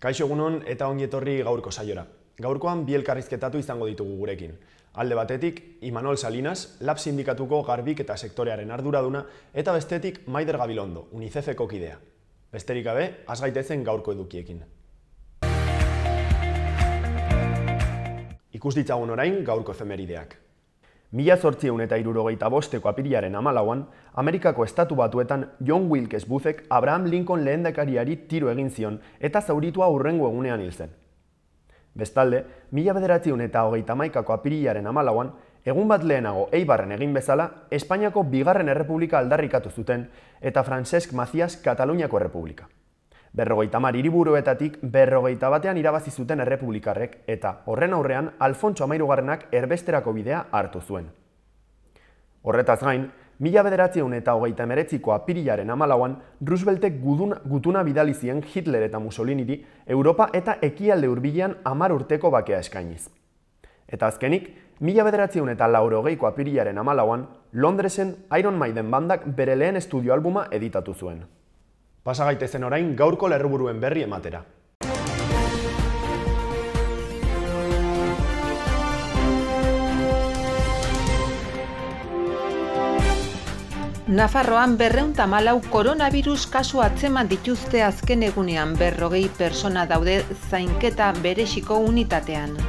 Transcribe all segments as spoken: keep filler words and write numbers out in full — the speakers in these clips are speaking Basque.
Kaixo egunon eta ongi etorri gaurko saiora. Gaurkoan bi elkarrizketatu izango ditugu gurekin. Alde batetik, Imanol Salinas, Lab Sindikatuko garbik eta sektorearen arduraduna, eta bestetik Maider Gabilondo, UNICEFeko kidea. Besterik gabe, has gaitezen gaurko edukiekin. Ikus ditzagun orain gaurko efemerideak. Mila zortziehun eta hirurogeita bosteko apirilaren hamalauan, Amerikako Estatu Batuetan John Wilkes Boothek Abraham Lincoln lehendakariari tiro egin zion eta zauritua hurrengo egunean hil zen. Bestalde, mila bederatziehun eta hogeita hamaikako apirilaren hamalauan, egun bat lehenago Eibarren egin bezala, Espainiako bigarren errepublika aldarrikatu zuten eta Francesc Macías Kataluniako errepublika. Berrogeita hamar hiriburuetatik berrogeita batean irabazi zuten errepublikarrek eta horren aurrean Alfontso Hamahirugarrenak erbesterako bidea hartu zuen. Horretaz gain, mila bederatziehun eta hogeita hemeretziko apirilaren hamalauan Rooseveltek gutuna bidali zien Hitler eta Mussoliniri Europa eta ekialde hurbilean hamar urteko bakea eskainiz. Eta azkenik, mila bederatziehun eta laurogeiko apirilaren hamalauan Londresen Iron Maiden bandak bere lehen estudio albuma editatu zuen. Pasa gaitezen orain gaurko lerroburuen berri ematera. Nafarroan berrehun eta hamalau koronavirus kasu atzeman dituzte azken egunean, berrogei pertsona daude zainketa bereziko unitatean.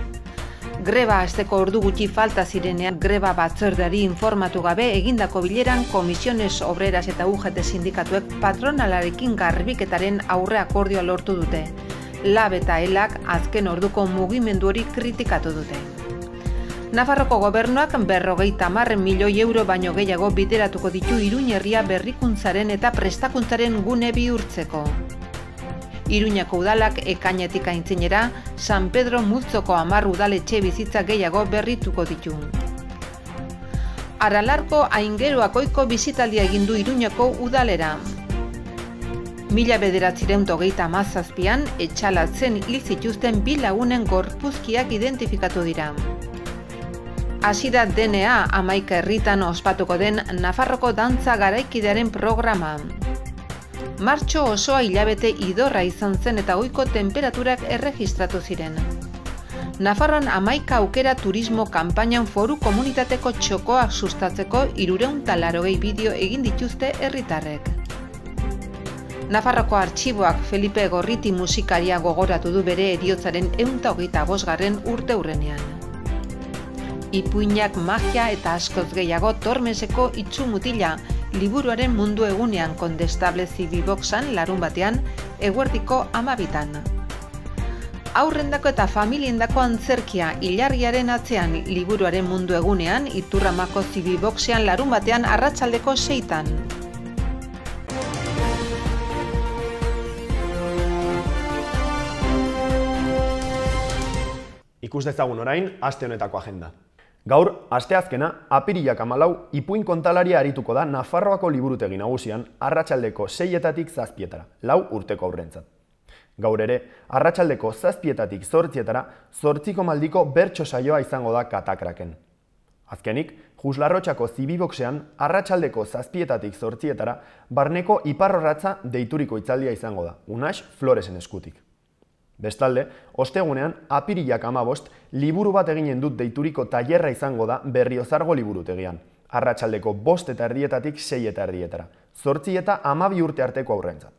Greba hasteko ordu gutxi falta zirenean greba batzordeari informatu gabe egindako bileran Comisiones Obreras eta U G T sindikatuek patronalarekin garbiketaren aurre akordioa lortu dute. Lab eta Elak azken orduko mugimendu hori kritikatu dute. Nafarroko gobernuak berrogeita hamar milioi euro baino gehiago bideratuko ditu Iruin herria berrikuntzaren eta prestakuntzaren gune bihurtzeko. Iruñako udalak ekainetik aintzinera, San Pedro multzoko hamar udaletxe bizitza gehiago berrituko ditu. Aralarko Aingeruak ohiko bisitaldia egin du Iruñako udalera. Mila bederatziehun eta hogeita hamazazpian etxalatzen hil zituzten bi lagunen gorpuzkiak identifikatu dira. Hasi da D N A hamaika herritan ospatuko den Nafarroko dantza garaikidearen programa. Martxo osoa hilabete idorra izan zen eta ohiko tenperaturak erregistratu ziren. Nafarroan hamaika aukera turismo kanpainan foru komunitateko txokoak sustatzeko hirurehun eta laurogei bideo egin dituzte herritarrek. Nafarroko artxiboak Felipe Gorriti musikaria gogoratu du bere heriotzaren ehun eta hogeita bosgarren urteurrenean. Ipuinak magia eta askoz gehiago Tormeseko Itzumutila liburuaren mundu egunean Kondestable Zibiboxan larun batean eguerdiko hamabitan. Aurrendako eta familiendako antzerkia ilargiaren atzean liburuaren mundu egunean Iturramako Zibiboxean larun batean arratsaldeko seitan. Ikus dezagun orain aste honetako agenda. Gaur, asteazkena, apirilak hamalau, ipuin kontalaria arituko da Nafarroako liburutegi nagusian arratsaldeko seietatik zazpietara, lau urteko aurrentzat. Gaur ere, arratsaldeko zazpietatik zortzietara, zortziko maldiko bertso saioa izango da Katakraken. Azkenik, Juslarrotxako Zibiboxean, arratsaldeko zazpietatik zortzietara, barneko iparrorratza deituriko hitzaldia izango da, Unax Floresen eskutik. Bestalde, ostegunean, apirilak hamabost, liburu bat eginen dut deituriko tailerra izango da Berriozargo liburutegian. Arratsaldeko bost eta erdietatik sei eta erdietara, zortzi eta hamabi urte arteko aurrentzat.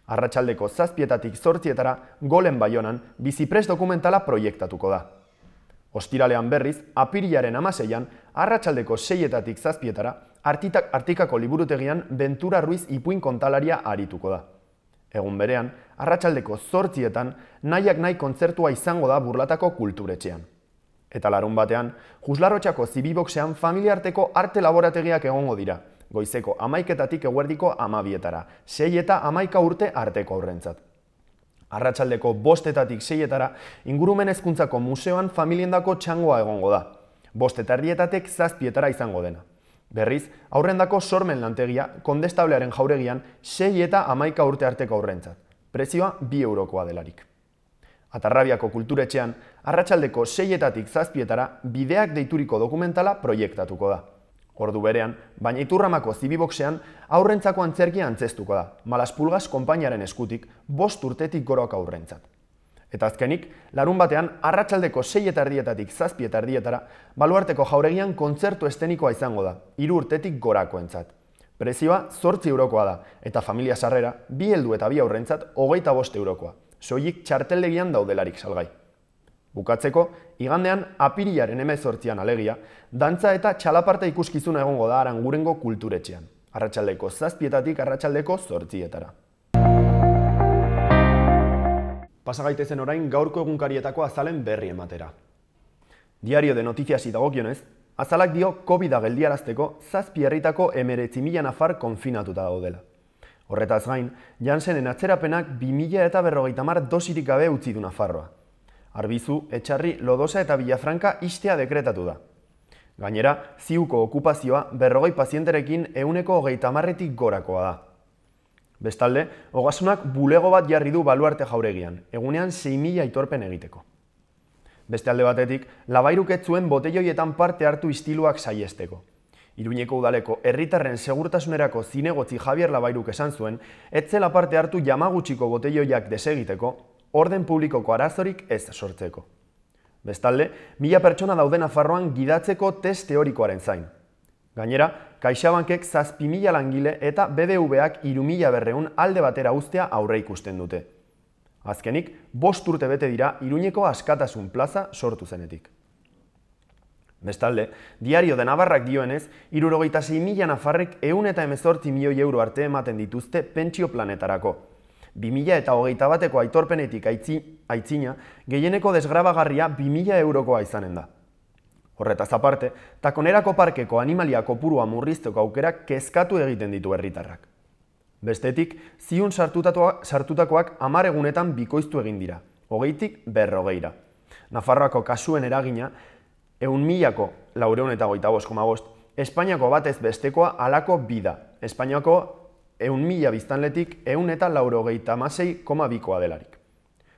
Arratsaldeko zazpietatik zortzietara, Golen Baionan, biziprest dokumentala proiektatuko da. Ostiralean berriz, apirilaren hamaseian, arratsaldeko seietatik zazpietara, Artikako liburutegian Ventura Ruiz ipuin kontalaria arituko da. Egun berean, arratsaldeko zortzietan, nahiak nahi kontzertua izango da Burlatako kulturetxean. Eta larun batean, Juslarrotxako Zibiboxean familiarteko arte laborategiak egongo dira, goizeko hamaiketatik eguerdiko hamabietara, sei eta hamaika urte arteko aurrentzat. Arratsaldeko bostetatik seietara, ingurumen hezkuntzako museoan familiendako txangoa egongo da, bost eta erdietatek zazpietara izango dena. Berriz, aurrendako sormen lantegia, Kondestablearen jauregian, sei eta hamaika urte arteko aurrentzat. Prezioa bi eurokoa delarik. Atarrabiako kulturetxean, arratsaldeko seietatik zazpietara, bideak deituriko dokumentala proiektatuko da. Ordu berean, baina Iturramako Zibiboxean aurrentzako antzerkia antzestuko da, Malaspulgas konpainiaren eskutik, bost urtetik gorok aurrentzat. Eta azkenik, larun batean, arratsaldeko sei eta erdietatik zazpi eta erdietara, Baluarteko jauregian kontzertu estenikoa izango da, hiru urtetik gorakoentzat. Prezioa zortzi eurokoa da, eta familia sarrera, bi heldu eta bi aurrentzat hogeita bost eurokoa, soilik txarteldegian daudelarik salgai. Bukatzeko, igandean apirilaren hemezortzian alegia, dantza eta txalaparta ikuskizuna egongo da Arangurengo kulturetxean, arratsaldeko zazpietatik arratsaldeko zortzietara. Pasa gaitezen orain gaurko egunkarietako azalen berri ematera. Diario de Notiziasi dagokionez, azalak dio Covida geldiarazteko zazpi herritako hemeretzi mila nafar konfinatuta daudela. Horretaz gain, Janssenen atzerapenak bi mila eta berrogeita hamar dosirik gabe utzi du Nafarroa. Arbizu, Etxarri, Lodosa eta Villafranca ixtea dekretatu da. Gainera, ziuko okupazioa berrogei pazienterekin ehuneko hogeita hamarretik gorakoa da. Bestalde, Ogasunak bulego bat jarri du Baluarte jauregian, egunean sei mila aitorpen egiteko. Beste alde batetik, Labairuk ez zuen botelloietan parte hartu istiluak saiesteko. Iruñeko udaleko herritarren segurtasunerako zinegotzi Javier Labairuk esan zuen, ez zela parte hartu Yamaguchiko botelloiak desegiteko, orden publikoko arazorik ez sortzeko. Bestalde, mila pertsona daude Nafarroan gidatzeko test teorikoaren zain. Gainera, CaixaBankek zazpi mila langile eta B B V-ak hiru mila berrehun alde batera uztea aurre ikusten dute. Azkenik, bost urte bete dira Iruñeko Askatasun plaza sortu zenetik. Bestalde, Diario de Navarrak dioenez, hirurogeita sei mila nafarrek ehun eta hemezortzi milioi euro arte ematen dituzte pentsio planetarako. bi mila eta hogeita bateko aitorpenetik aitzina, gehieneko desgrabagarria bi mila eurokoa izanen da. Horretaz aparte, Takonerako parkeko animalia kopurua murrizteko aukerak kezkatu egiten ditu herritarrak. Bestetik, ziun sartutakoak hamar egunetan bikoiztu egin dira, hogeitik berrogeira. Nafarroako kasuen eragina, ehun milako laurehun eta hogeita bost koma bost, Espainiako batez bestekoa halako bi da, Espainiako ehun mila biztanletik ehun eta laurogeita hamasei koma bikoa delarik.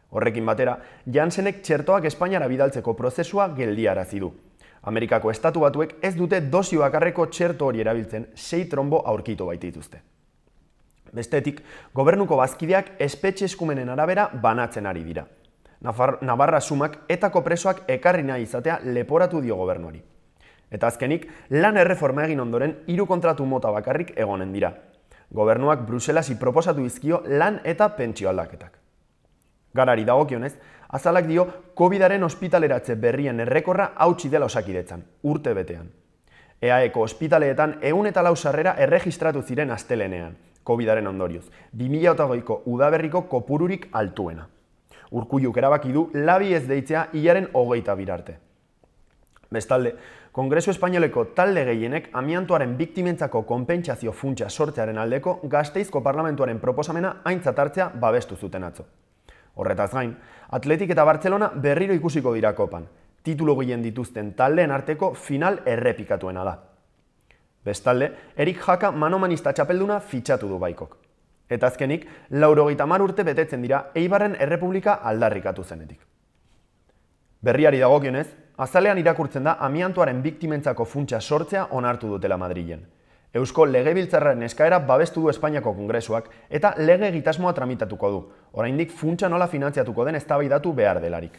Horrekin batera, Janssenek txertoak Espainiara bidaltzeko prozesua geldiarazi du. Amerikako estatu batuek ez dute dosi bakarreko txerto hori erabiltzen sei trombo aurkitu baitituzte. Bestetik, gobernuko bazkideak espetxe eskumenen arabera banatzen ari dira. Navarra sumak etako presoak ekarri nahi izatea leporatu dio gobernuari. Eta azkenik, lan erreforma egin ondoren hiru kontratu mota bakarrik egonen dira. Gobernuak Bruselasi proposatu dizkio lan eta pentsio aldaketak. Garari dagokionez, azalak dio Covidaren ospitaleratze berrien errekorra hautsi dela Osakidetzan, urte betean. E A Eko ospitaleetan ehun eta lau sarrera erregistratu ziren astelenean, Covidaren ondorioz, bi mila hogeiko udaberriko kopururik altuena. Urkulluk erabaki du labi ez deitzea hilaren hogeita birarte. Bestalde, Kongresu Espainoleko talde gehienek amiantoaren biktimentzako konpentsazio funtsa sortzearen aldeko Gasteizko Parlamentuaren proposamena aintzat hartzea babestu zuten atzo. Horretaz gain, Atletik eta Bartzelona berriro ikusiko dira kopan, titulu gehien dituzten taldeen arteko final errepikatuena da. Bestalde, Erik Jaka manomanista txapelduna fitxatu du Baikok. Eta azkenik, laurogeita hamar urte betetzen dira Eibarren Errepublika aldarrikatu zenetik. Berriari dagokionez, azalean irakurtzen da amiantoaren biktimentzako funtsa sortzea onartu dutela Madrilen. Eusko Legebiltzarraren eskaera babestu du Espainiako Kongresuak eta lege egitasmoa tramitatuko du, oraindik funtsa nola finantziatuko den eztabaidatu behar delarik.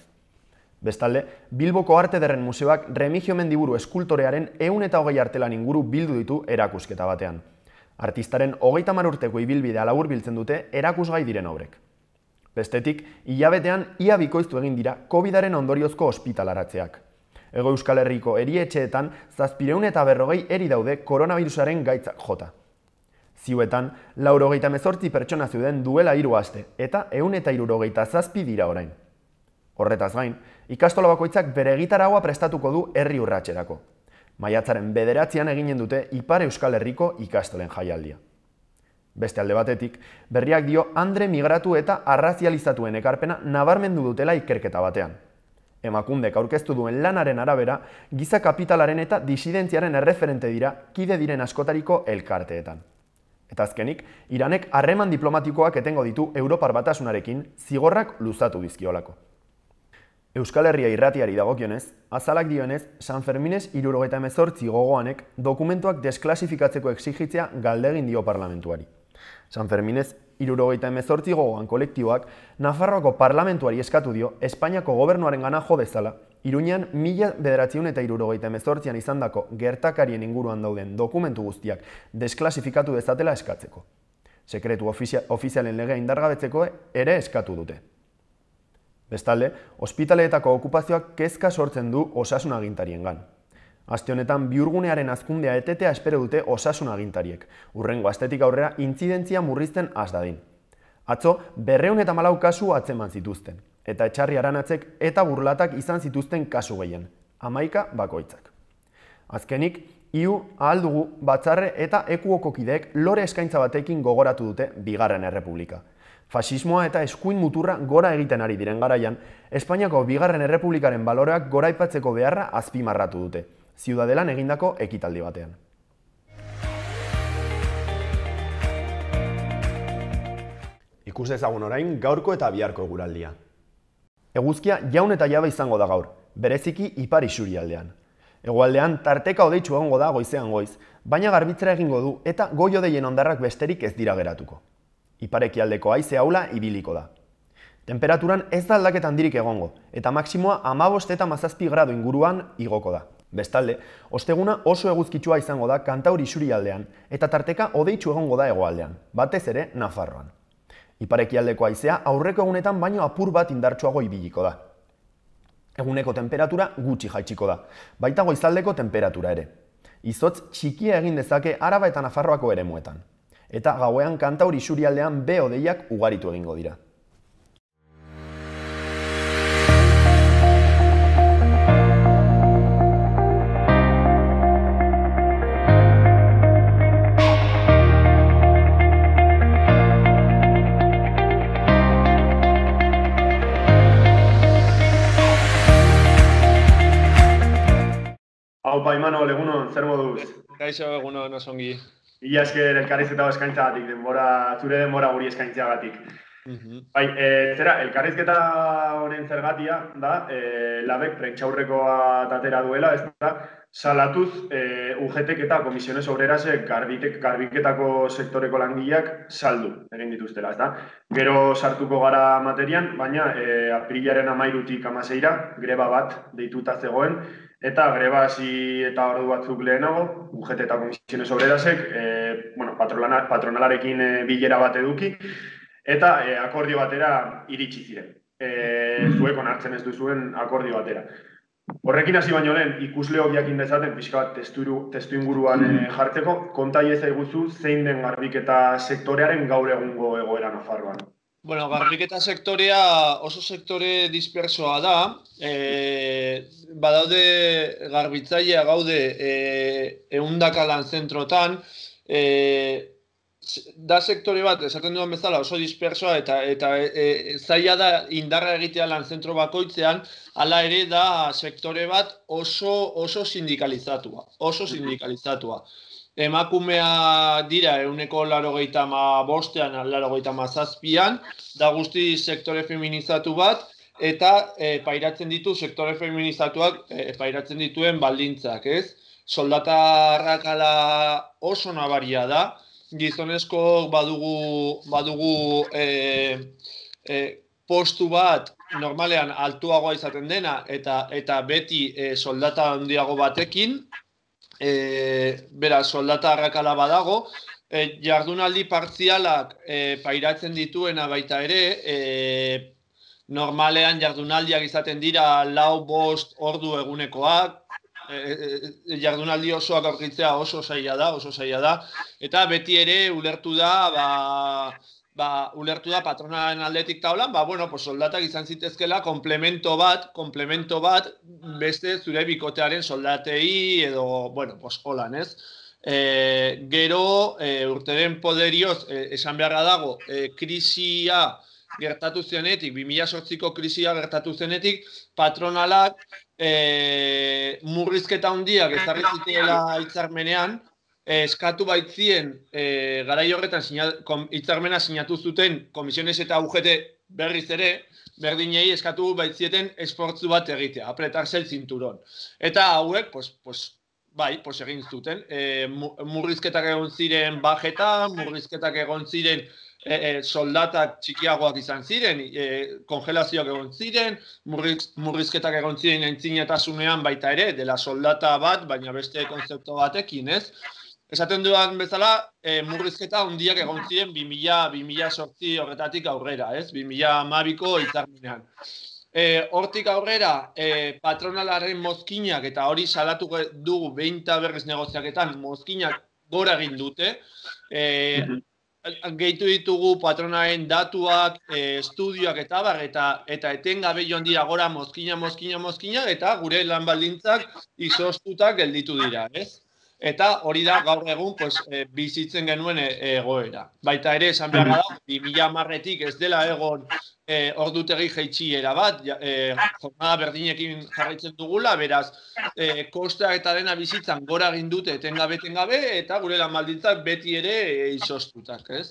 Bestalde, Bilboko Arte Ederren Museoak Remigio Mendiburu eskultorearen ehun eta hogei artelan inguru bildu ditu erakusketa batean. Artistaren hogeita hamar urteko ibilbidea laburbiltzen dute erakusgai diren obrek. Bestetik, hilabetean ia bikoiztu egin dira Covidaren ondoriozko ospitalaratzeak. Hego Euskal Herriko erietxeetan zazpireun eta berrogei eri daude koronavirusaren gaitzak jota. Ziuetan, laurogeita hemezortzi pertsona zeuden duela hiru aste eta ehun eta hirurogeita zazpi dira orain. Horretaz gain, ikastola bakoitzak bere egitaraua prestatuko du herri urratserako. Maiatzaren bederatzian eginen dute Ipar Euskal Herriko ikastolen jaialdia. Beste alde batetik, berriak dio andre migratu eta arrazializatuen ekarpena nabarmendu dutela ikerketa batean. Emakundek aurkeztu duen lanaren arabera, giza kapitalaren eta disidentziaren erreferente dira kide diren askotariko elkarteetan. Eta azkenik, Iranek harreman diplomatikoak etengo ditu Europar Batasunarekin zigorrak luzatu dizkiolako. Euskal Herria irratiari dagokionez, azalak dioenez, San Ferminez hirurogeita hemezortzi gogoanek dokumentuak desklasifikatzeko exigitzea galdegin dio parlamentuari. San Ferminez hirurogeita hemezortzi gogoan kolektiboak Nafarroako parlamentuari eskatu dio Espainiako gobernuaren gana jo dezala, Iruñean mila bederatziehun eta hirurogeita hemezortzian izandako gertakarien inguruan dauden dokumentu guztiak desklasifikatu dezatela eskatzeko. Sekretu ofizialen legea indargabetzeko ere eskatu dute. Bestalde, ospitaleetako okupazioak kezka sortzen du osasun agintariengan. Aste honetan bihurgunearen hazkundea etetea espero dute osasun agintariek, hurrengo astetik aurrera intzidentzia murrizten has dadin. Atzo, berrehun eta hamalau kasu atzeman zituzten, eta Etxarri Aranatzek eta burlatak izan zituzten kasu gehien, hamaika bakoitzak. Azkenik, iu ahal dugu batzarre eta ekuoko kideek lore eskaintza batekin gogoratu dute Bigarren Errepublika. Fasismoa eta eskuin muturra gora egiten ari diren garaian, Espainiako Bigarren Errepublikaren baloreak goraipatzeko beharra azpimarratu dute, Ziudadelan egindako ekitaldi batean. Ikus dezagun orain gaurko eta biharko eguraldia. Eguzkia jaun eta jabe izango da gaur, bereziki ipar isurialdean. Hegoaldean tarteka hodeitsu egongo da goizean goiz, baina garbitzera egingo du eta goi-hodeien hondarrak besterik ez dira geratuko. Iparekialdeko haize ahula ibiliko da. Temperaturan ez da aldaketa handirik egongo, eta maksimoa hamabost eta hamazazpi gradu inguruan igoko da. Bestalde, osteguna oso eguzkitsua izango da Kantaur isurialdean eta tarteka hodeitsu egongo da hegoaldean, batez ere Nafarroan. Iparekialdeko haizea aurreko egunetan baino apur bat indartsuago ibiliko da. Eguneko temperatura gutxi jaitsiko da, baita goizaldeko temperatura ere. Izotz txikia egin dezake Araba eta Nafarroako eremuetan. Eta gauean Kantaur isurialdean behe-hodeiak ugaritu egingo dira. Haupa, Imanol, egunon, zer moduz? Kaixo, egunon, osongi. Ia esker elkarrizketa eskaintzagatik, denbora, zure denbora guri eskaintzagatik. Bai, e, zera, elkarrizketa honen zergatia da, e, labek prentxaurrekoa tatera duela, ez da, salatuz e, U G T eta Komisiones Obrerasek garbiketako sektoreko langileak saldu egin dituztela, ez da. Gero sartuko gara materian, baina e, apirilaren hamairutik hamaseira greba bat deituta zegoen, eta greba hasi eta ordu batzuk lehenago, U G T eta Komisiones Obrerasek e, bueno, patronalarekin e, bilera bat eduki, eta e, akordio batera iritsi ziren. E, zuek onartzen ez duzuen akordio batera. Horrekin hasi baino lehen, ikusleok jakin dezaten pixka bat testu inguruan e, jartzeko, konta iezaiguzu zein den garbiketa sektorearen gaur egungo egoera Nafarroan. Bueno, garbiketa sektorea oso sektore dispersoa da. E, badaude garbitzailea gaude e, ehundaka lan zentrotan. E, da sektore bat, esaten duan bezala, oso dispersoa eta, eta e, zaila da indarra egitea lan zentro bakoitzean, hala ere da sektore bat oso, oso sindikalizatua. Oso sindikalizatua. Emakumea dira ehuneko laurogeita hamabostean, laurogeita hamazazpian, da guzti sektore feminizatu bat, eta e, pairatzen ditu sektore feminizatuak e, pairatzen dituen baldintzak, ez? Soldata arrakala oso nabaria da, gizonezko badugu, badugu e, e, postu bat normalean altuagoa izaten dena, eta, eta beti e, soldata handiago batekin, E, bera, soldata arrakala badago, e, jardunaldi partzialak e, pairatzen dituena baita ere, e, normalean jardunaldiak izaten dira lau bost ordu egunekoak, e, e, jardunaldi osoak aurkitzea oso zaila da, oso zaila da, eta beti ere ulertu da, ba, ba, ulertu da patronaren aldetik taulan, ba, bueno, pues soldatak izan zitezkela komplemento bat, komplemento bat beste zure bikotearen soldatei edo, bueno, pues holan, ez? E, gero, e, urteren poderioz, e, esan beharra dago, e, krisia gertatu zenetik, bi mila zortziko krisia gertatu zenetik, patronalak e, murrizketa handiak ezarri zituela hitzarmenean, eskatu baitzien e, garai horretan hitzarmena sinatu zuten Komisiones eta U G T berriz ere, berdinei eskatu baitzieten esfortzu bat egitea, apretarse el cinturón. Eta hauek, pues, pues, bai, pues egin zuten. E, murrizketak egon ziren bajetan, murrizketak egon ziren e, e, soldatak txikiagoak izan ziren, e, kongelazioak egon ziren, murriz, murrizketak egon ziren entzinetasunean baita ere, dela soldata bat, baina beste konzeptu batekin, ez? Esaten dudan bezala, e, murrizketa handiak egon ziren bi mila zortzi horretatik aurrera, ez? bi mila hamabiko hitzarmenean. E, hortik aurrera, e, patronalaren mozkinak, eta hori salatu dugu behin eta berriz negoziaketan, mozkinak gora egin dute. E, gehitu ditugu patronaren datuak, e, estudioak eta bar, eta, eta etengabe joan dira gora mozkina, mozkina, mozkina, eta gure lan baldintzak izoztutak gelditu dira, ez? Eta hori da gaur egun pues, e, bizitzen genuen egoera. Baita ere, esan behar da, bi mila hamarretik ez dela egon e, ordutegi jaitsiera bat, e, jornada berdinekin jarraitzen dugula, beraz, e, kostea eta dena bizitzan gora egin dute etengabe, etengabe, eta gure lan baldintzak beti ere e, izoztutak, ez?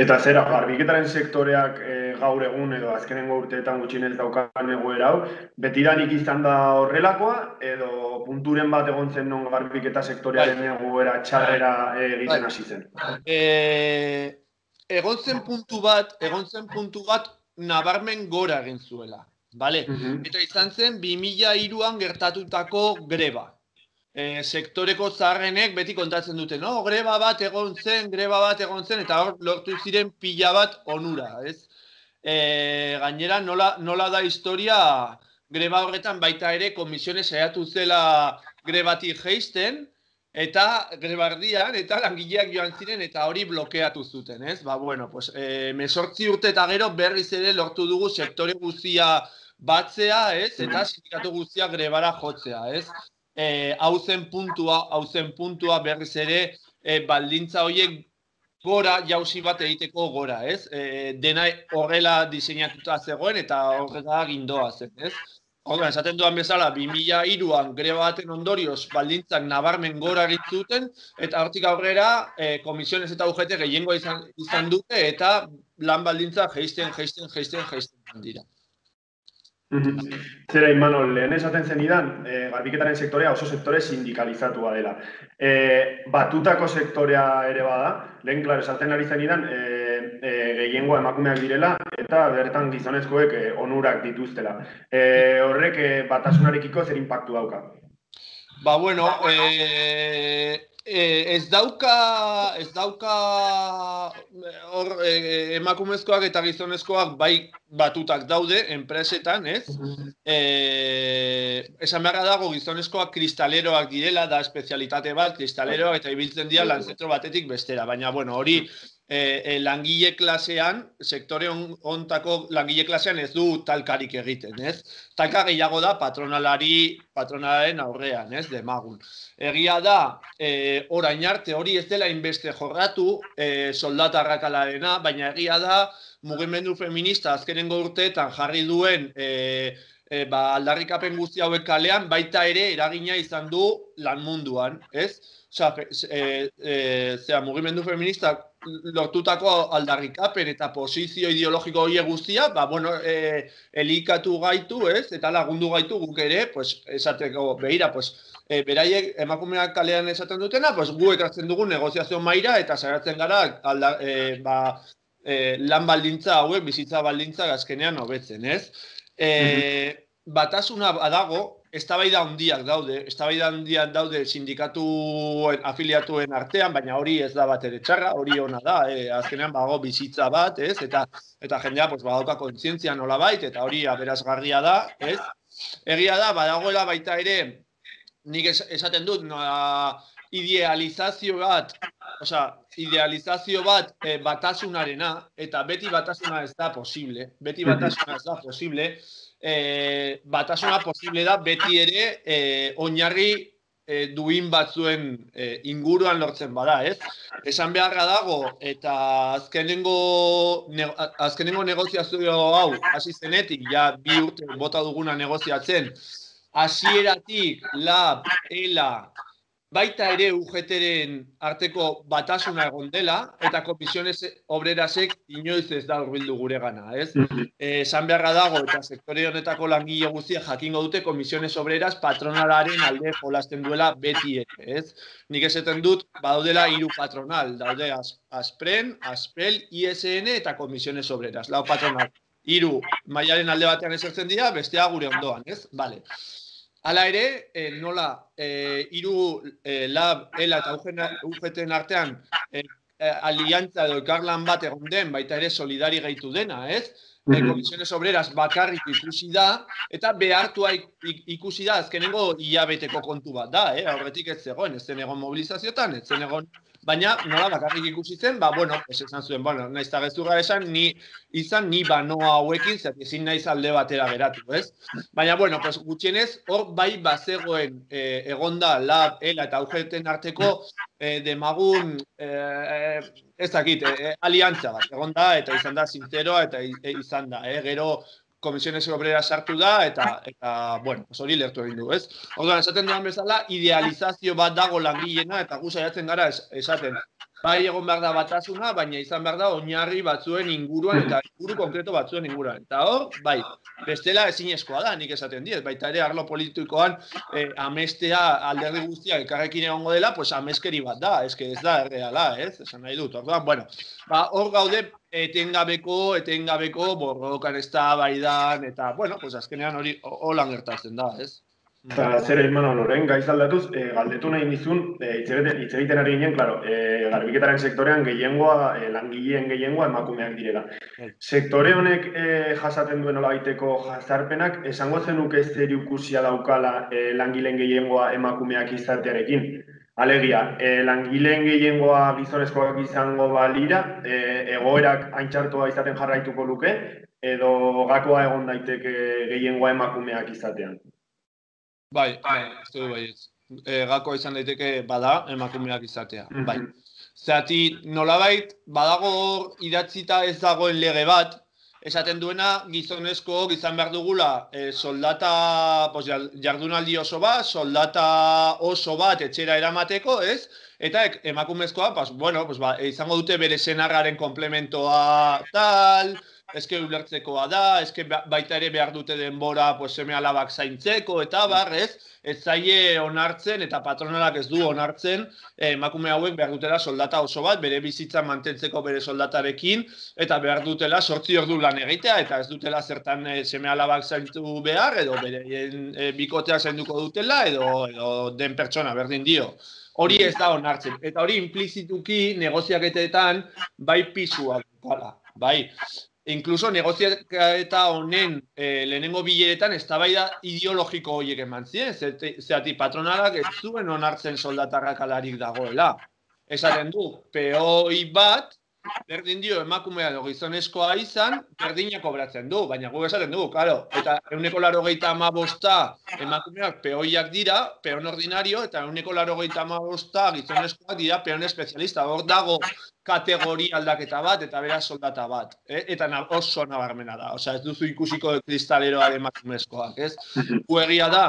Eta zera, garbiketaren sektoreak e, gaur egun edo azkenengo urteetan gutxienez daukan egoera hau, betidanik izan da horrelakoa, edo punturen bat egon zen non garbiketa sektorearen egoera txarrera egiten hasi zen? E, egon zen puntu bat, egon zen puntu bat nabarmen gora egin zuela, bale? Uh-huh. Eta izan zen bi mila hiruan gertatutako greba. E, sektoreko zaharrenek beti kontatzen dute, no? Greba bat egon zen, greba bat egon zen, eta hor lortu ziren pila bat onura, ez? E, gainera, nola, nola da historia, greba horretan baita ere komisiones saiatu zela grebatik jeisten, eta grebardian, eta langileak joan ziren, eta hori blokeatu zuten, ez? Ba, bueno, pues, e, mesortzi urte eta gero berriz ere lortu dugu sektore guztia batzea, ez? Eta sindikatu guztia grebara jotzea, ez? E, hau zen puntua, hau zen puntua berriz ere e, baldintza horiek gora, jauzi bat egiteko gora, ez? E, dena horrela diseinatuta zegoen eta horrela gindoa zen, ez? Horren, esaten duan bezala, bi mila hiruan greba baten ondorioz baldintzak nabarmen gora egitzuten, eta hortik aurrera e, komisiones eta U G T gehiengoa izan, izan dute, eta lan baldintzak jeisten, jeisten, jeisten, jeisten dira. Zera, Imanol, lehen esaten zenidan, e, garbiketaren sektorea oso sektore sindikalizatua dela. E, batutako sektorea ere bada, lehen, klar, esaten ari zenidan, e, e, gehiengoa emakumeak direla, eta bertan gizonezkoek e, onurak dituztela. E, horrek e, batasunarekiko zer inpaktu dauka? Ba, bueno, e, e, ez dauka, ez dauka hor, e, emakumezkoak eta gizonezkoak bai batutak daude, enpresetan, ez? E, esan beharra dago gizonezkoak kristaleroak direla, da espezialitate bat, kristaleroak eta ibiltzen dira lanzentro batetik bestera, baina, bueno, hori e, e, langile klasean, sektore hontako langile klasean ez du talkarik egiten, ez? Talka gehiago da patronalari, patronalaren aurrean, ez, demagun. Egia da, e, orain arte hori ez dela inbeste jorratu, e, soldata arrakalarena, baina egia da, mugimendu feminista azkenengo urteetan jarri duen e, e, ba, aldarrikapen guzti hauek kalean, baita ere eragina izan du lan munduan, ez? Osa, e, e, zera, mugimendu feminista lortutako aldarrikapen eta posizio ideologiko horiek guztia, ba, bueno, e, elikatu gaitu, ez? Eta lagundu gaitu guk ere, pues, esateko, behira, pues, e, beraiek emakumeak kalean esaten dutena, pues, gu ekartzen dugu negoziazio maila eta saiatzen gara, alda, e, ba, E, lan baldintza hauek, bizitza baldintza azkenean hobetzen, ez? E, batasuna badago, eztabaida handiak daude, eztabaida handiak daude sindikatuen afiliatuen artean, baina hori ez da bat ere txarra, hori ona da, e, azkenean bago bizitza bat, ez? Eta, eta jendea pues, badauka kontzientzia nolabait, eta hori aberazgarria da, ez? Egia da, badagoela baita ere, nik esaten dut, nola, idealizazio bat, osea, idealizazio bat e, batasunarena, eta beti batasuna ez da posible, beti batasuna ez da posible, e, batasuna posible da beti ere e, oinarri e, duin batzuen e, inguruan lortzen bada, ez? Esan beharra dago, eta azkenengo, ne, azkenengo negoziazio hau, hasi zenetik, ja bi urte bota duguna negoziatzen, hasieratik, lab, ela, baita ere U G T-ren arteko batasuna egon dela, eta komisiones obrerasek inoiz ez da hurbildu gure gana, ez? Esan beharra dago, eta sektore honetako langile guztiak jakingo dute komisiones obreras patronalaren alde jolasten duela beti ere, ez? Nik esaten dut, badaudela hiru patronal, daude Aspren, Aspel, I S N eta komisiones obreras, lau patronal. Hiru mailaren alde batean esertzen dira, bestea gure ondoan, ez? Vale. Hala ere, eh, nola, hiru eh, lab, ELA eta U G T-en artean eh, aliantza edo elkarlan bat egon den, baita ere solidari gehitu dena, ez? Eh, komisiones obreras bakarrik ikusi da, eta behartua ikusi da, azkenengo hilabeteko kontu bat da, eh? Aurretik ez zegoen, ez zen egon mobilizazioetan, ez zen egon, baina nola bakarrik ikusi zen, ba, bueno, pues esan zuen, bueno, naiz eta gezurra esan, ni izan, ni banoa hauekin, zer ezin naiz alde batera geratu, ez? Baina, bueno, pues gutxienez, hor bai bazegoen eh, egonda lab, ELA eta U G T-en arteko eh, demagun, eh, ez dakit, eh, aliantza bat, egonda, eta izan da sinceroa, eta izan da, eh, gero komisiones obrera sartu da, eta, eta bueno, hori lertu egin du, ez? Orduan, esaten duan bezala, idealizazio bat dago langileena, eta gu saiatzen gara esaten. Bai egon behar da batasuna, baina izan behar da oinarri batzuen inguruan, eta inguru konkreto batzuen inguruan. Eta hor, bai, bestela ezinezkoa da, nik esaten diet, baita ere arlo politikoan eh, amestea alderdi guztiak ekarrekin egongo dela, pues ameskeri bat da, eske ez da erreala, ez? Esan nahi dut, orduan, bueno, ba, hor gaude etengabeko, etengabeko, borrokan ez da, baidan, eta, bueno, pues azkenean hori holan gertatzen da, ez? Eta zer Imanol, orain gaiz aldatuz, e, galdetu nahi nizun, e, hitz egiten ari ginen, claro, e, garbiketaren sektorean gehiengoa, e, langileen gehiengoa emakumeak direla. Sektore honek e, jasaten duen olabaiteko jazarpenak, esango zenuke zerikusia daukala e, langileen gehiengoa emakumeak izatearekin. Alegia, e, langileen gehiengoa gizonezkoak izango balira, e, egoerak haintxartua izaten jarraituko luke, edo gakoa egon daiteke gehiengoa emakumeak izatean. Bai, bai, ez du bai ez. E, gako izan daiteke bada emakumeak izatea, bai. Zerati nolabait, badago idatzita ez dagoen lege bat, esaten duena gizonezko izan behar dugula e, soldata, pues, jardunaldi oso bat, soldata oso bat etxera eramateko, ez? Eta emakumezkoa, pues, bueno, pues, ba, izango dute bere senarraren komplementoa tal, eske ulertzekoa da, eske baita ere behar dute denbora pues, seme alabak zaintzeko eta barrez, ez zaie onartzen eta patronalak ez du onartzen emakume hauek behar dutela soldata oso bat, bere bizitza mantentzeko bere soldatarekin, eta behar dutela sortzi ordu lan egitea, eta ez dutela zertan e, seme alabak zaintu behar, edo bere e, bikotea zainduko dutela, edo, edo den pertsona berdin dio. Hori ez da onartzen, eta hori implizituki negoziaketetan bai pisua dukala, bai. Inkluso negoziaketa honen eh, lehenengo bileretan eztabaida ideologiko horiek eman ziren, zerati patronalak ez zuen onartzen soldatarrakalarik dagoela. Esaten du, peoi bat, berdin dio emakumea edo gizonezkoa izan, berdina kobratzen du, baina gu esaten du, claro, eta ehuneko laurogeita hamabosta emakumeak peoiak dira, peon ordinario, eta ehuneko laurogeita hamabosta gizonezkoak dira peon espezialista. Hor dago kategoria aldaketa bat eta beraz soldata bat, eh? Eta oso nabarmena da, osea ez duzu ikusiko kristaleroa emakumezkoak, ez? Gu egia da,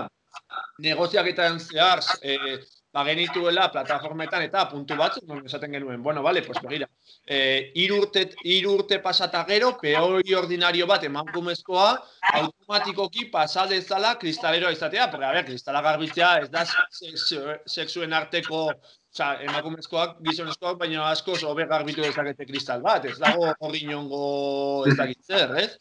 negoziaketan zehar, eh, ba genituela plataformetan eta puntu batzuk, non esaten genuen, bueno, vale, pues begira, eh, hiru urte, hiru urte pasata gero, peoi ordinario bat emakumezkoa, automatikoki pasa dezala kristaleroa izatea, pero a ver, kristala garbitzea ez da sexuen arteko, oza, emakumezkoak, gizonezkoak, baina askoz hobe garbitu dezakete kristal bat, ez dago hori inongo ez dakitzer, ez?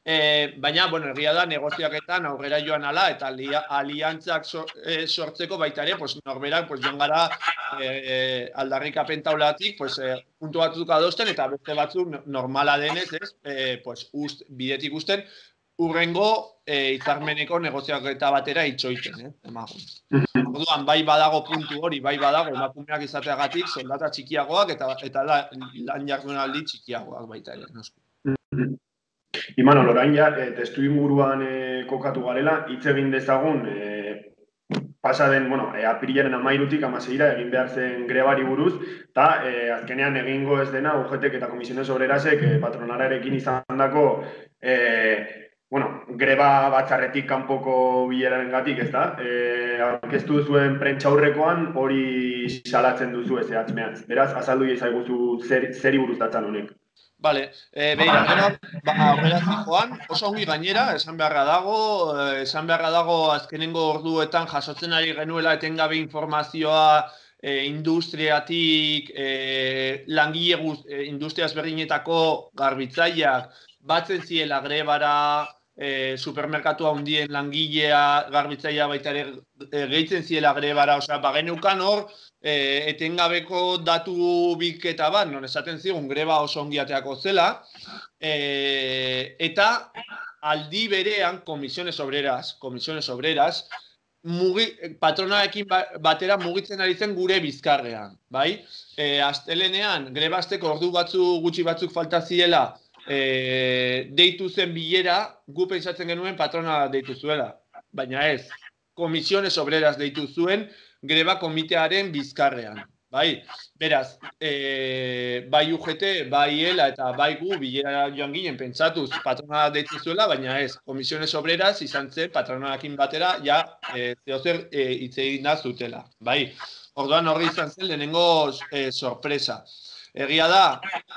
E, baina, bueno, egia da, negoziaketan aurrera joan ala, eta aliantzak so, e, sortzeko baita ere, pues, norberak, pues, joan gara e, e, aldarrikapen taulatik, pues, e, puntu batzuk adosten, eta beste batzuk normala denez, ez? E, pues, ust, bidetik usten, urrengo e, hitzarmeneko negoziaketa batera itxoiten, eh? Emagun. Orduan, bai badago puntu hori, bai badago emakumeak izateagatik soldata txikiagoak eta eta lan jardunaldi txikiagoak baita ere, noski. Imanol, orain ja, e, testu inguruan e, kokatu garela, hitz egin dezagun, e, pasa den, bueno, e, apirilaren hamairutik hamaseira egin behar zen grebari buruz, eta e, azkenean egingo ez dena U G T eta Komisiones Obrerasek e, patronalarekin izandako e, Bueno, greba batzarretik kanpoko bileraren gatik, ez da? E, aurkeztu zuen prentxaurrekoan hori salatzen duzu ez ehatz-mehatz. Beraz, azaldu izaiguzu zer, zeri buruz datzan honek. Bale, e, beira, greba ba, aurrera zijoan, oso ongi gainera, esan beharra dago, esan beharra dago azkenengo orduetan jasotzen ari genuela etengabe informazioa e, industriatik, e, langile guz, e, industria ezberdinetako garbitzaileak batzen ziela grebara, e, supermerkatu handien langilea, garbitzailea baita ere e, gehitzen ziela grebara, osea, bageneukan hor, e, etengabeko datu bilketa bat, non esaten zigun greba oso ongi ateako zela, e, eta aldi berean komisiones obreras, komisiones obreras, mugi, patronaekin batera mugitzen ari zen gure bizkarrean, bai? E, astelenean, greba hasteko ordu batzu gutxi batzuk falta ziela, E, deitu zen bilera, gu pentsatzen genuen patrona deitu zuela, baina ez, komisiones obreras deitu zuen greba komitearen bizkarrean, bai? Beraz, e, bai U G T, bai ELA eta bai gu bilera joan ginen pentsatuz patrona deitu zuela, baina ez, komisiones obreras izan zen patronarekin batera, ja, e, zeozer e, hitz egin da zutela, bai? Orduan horri izan zen lehenengo e, sorpresa. Egia da,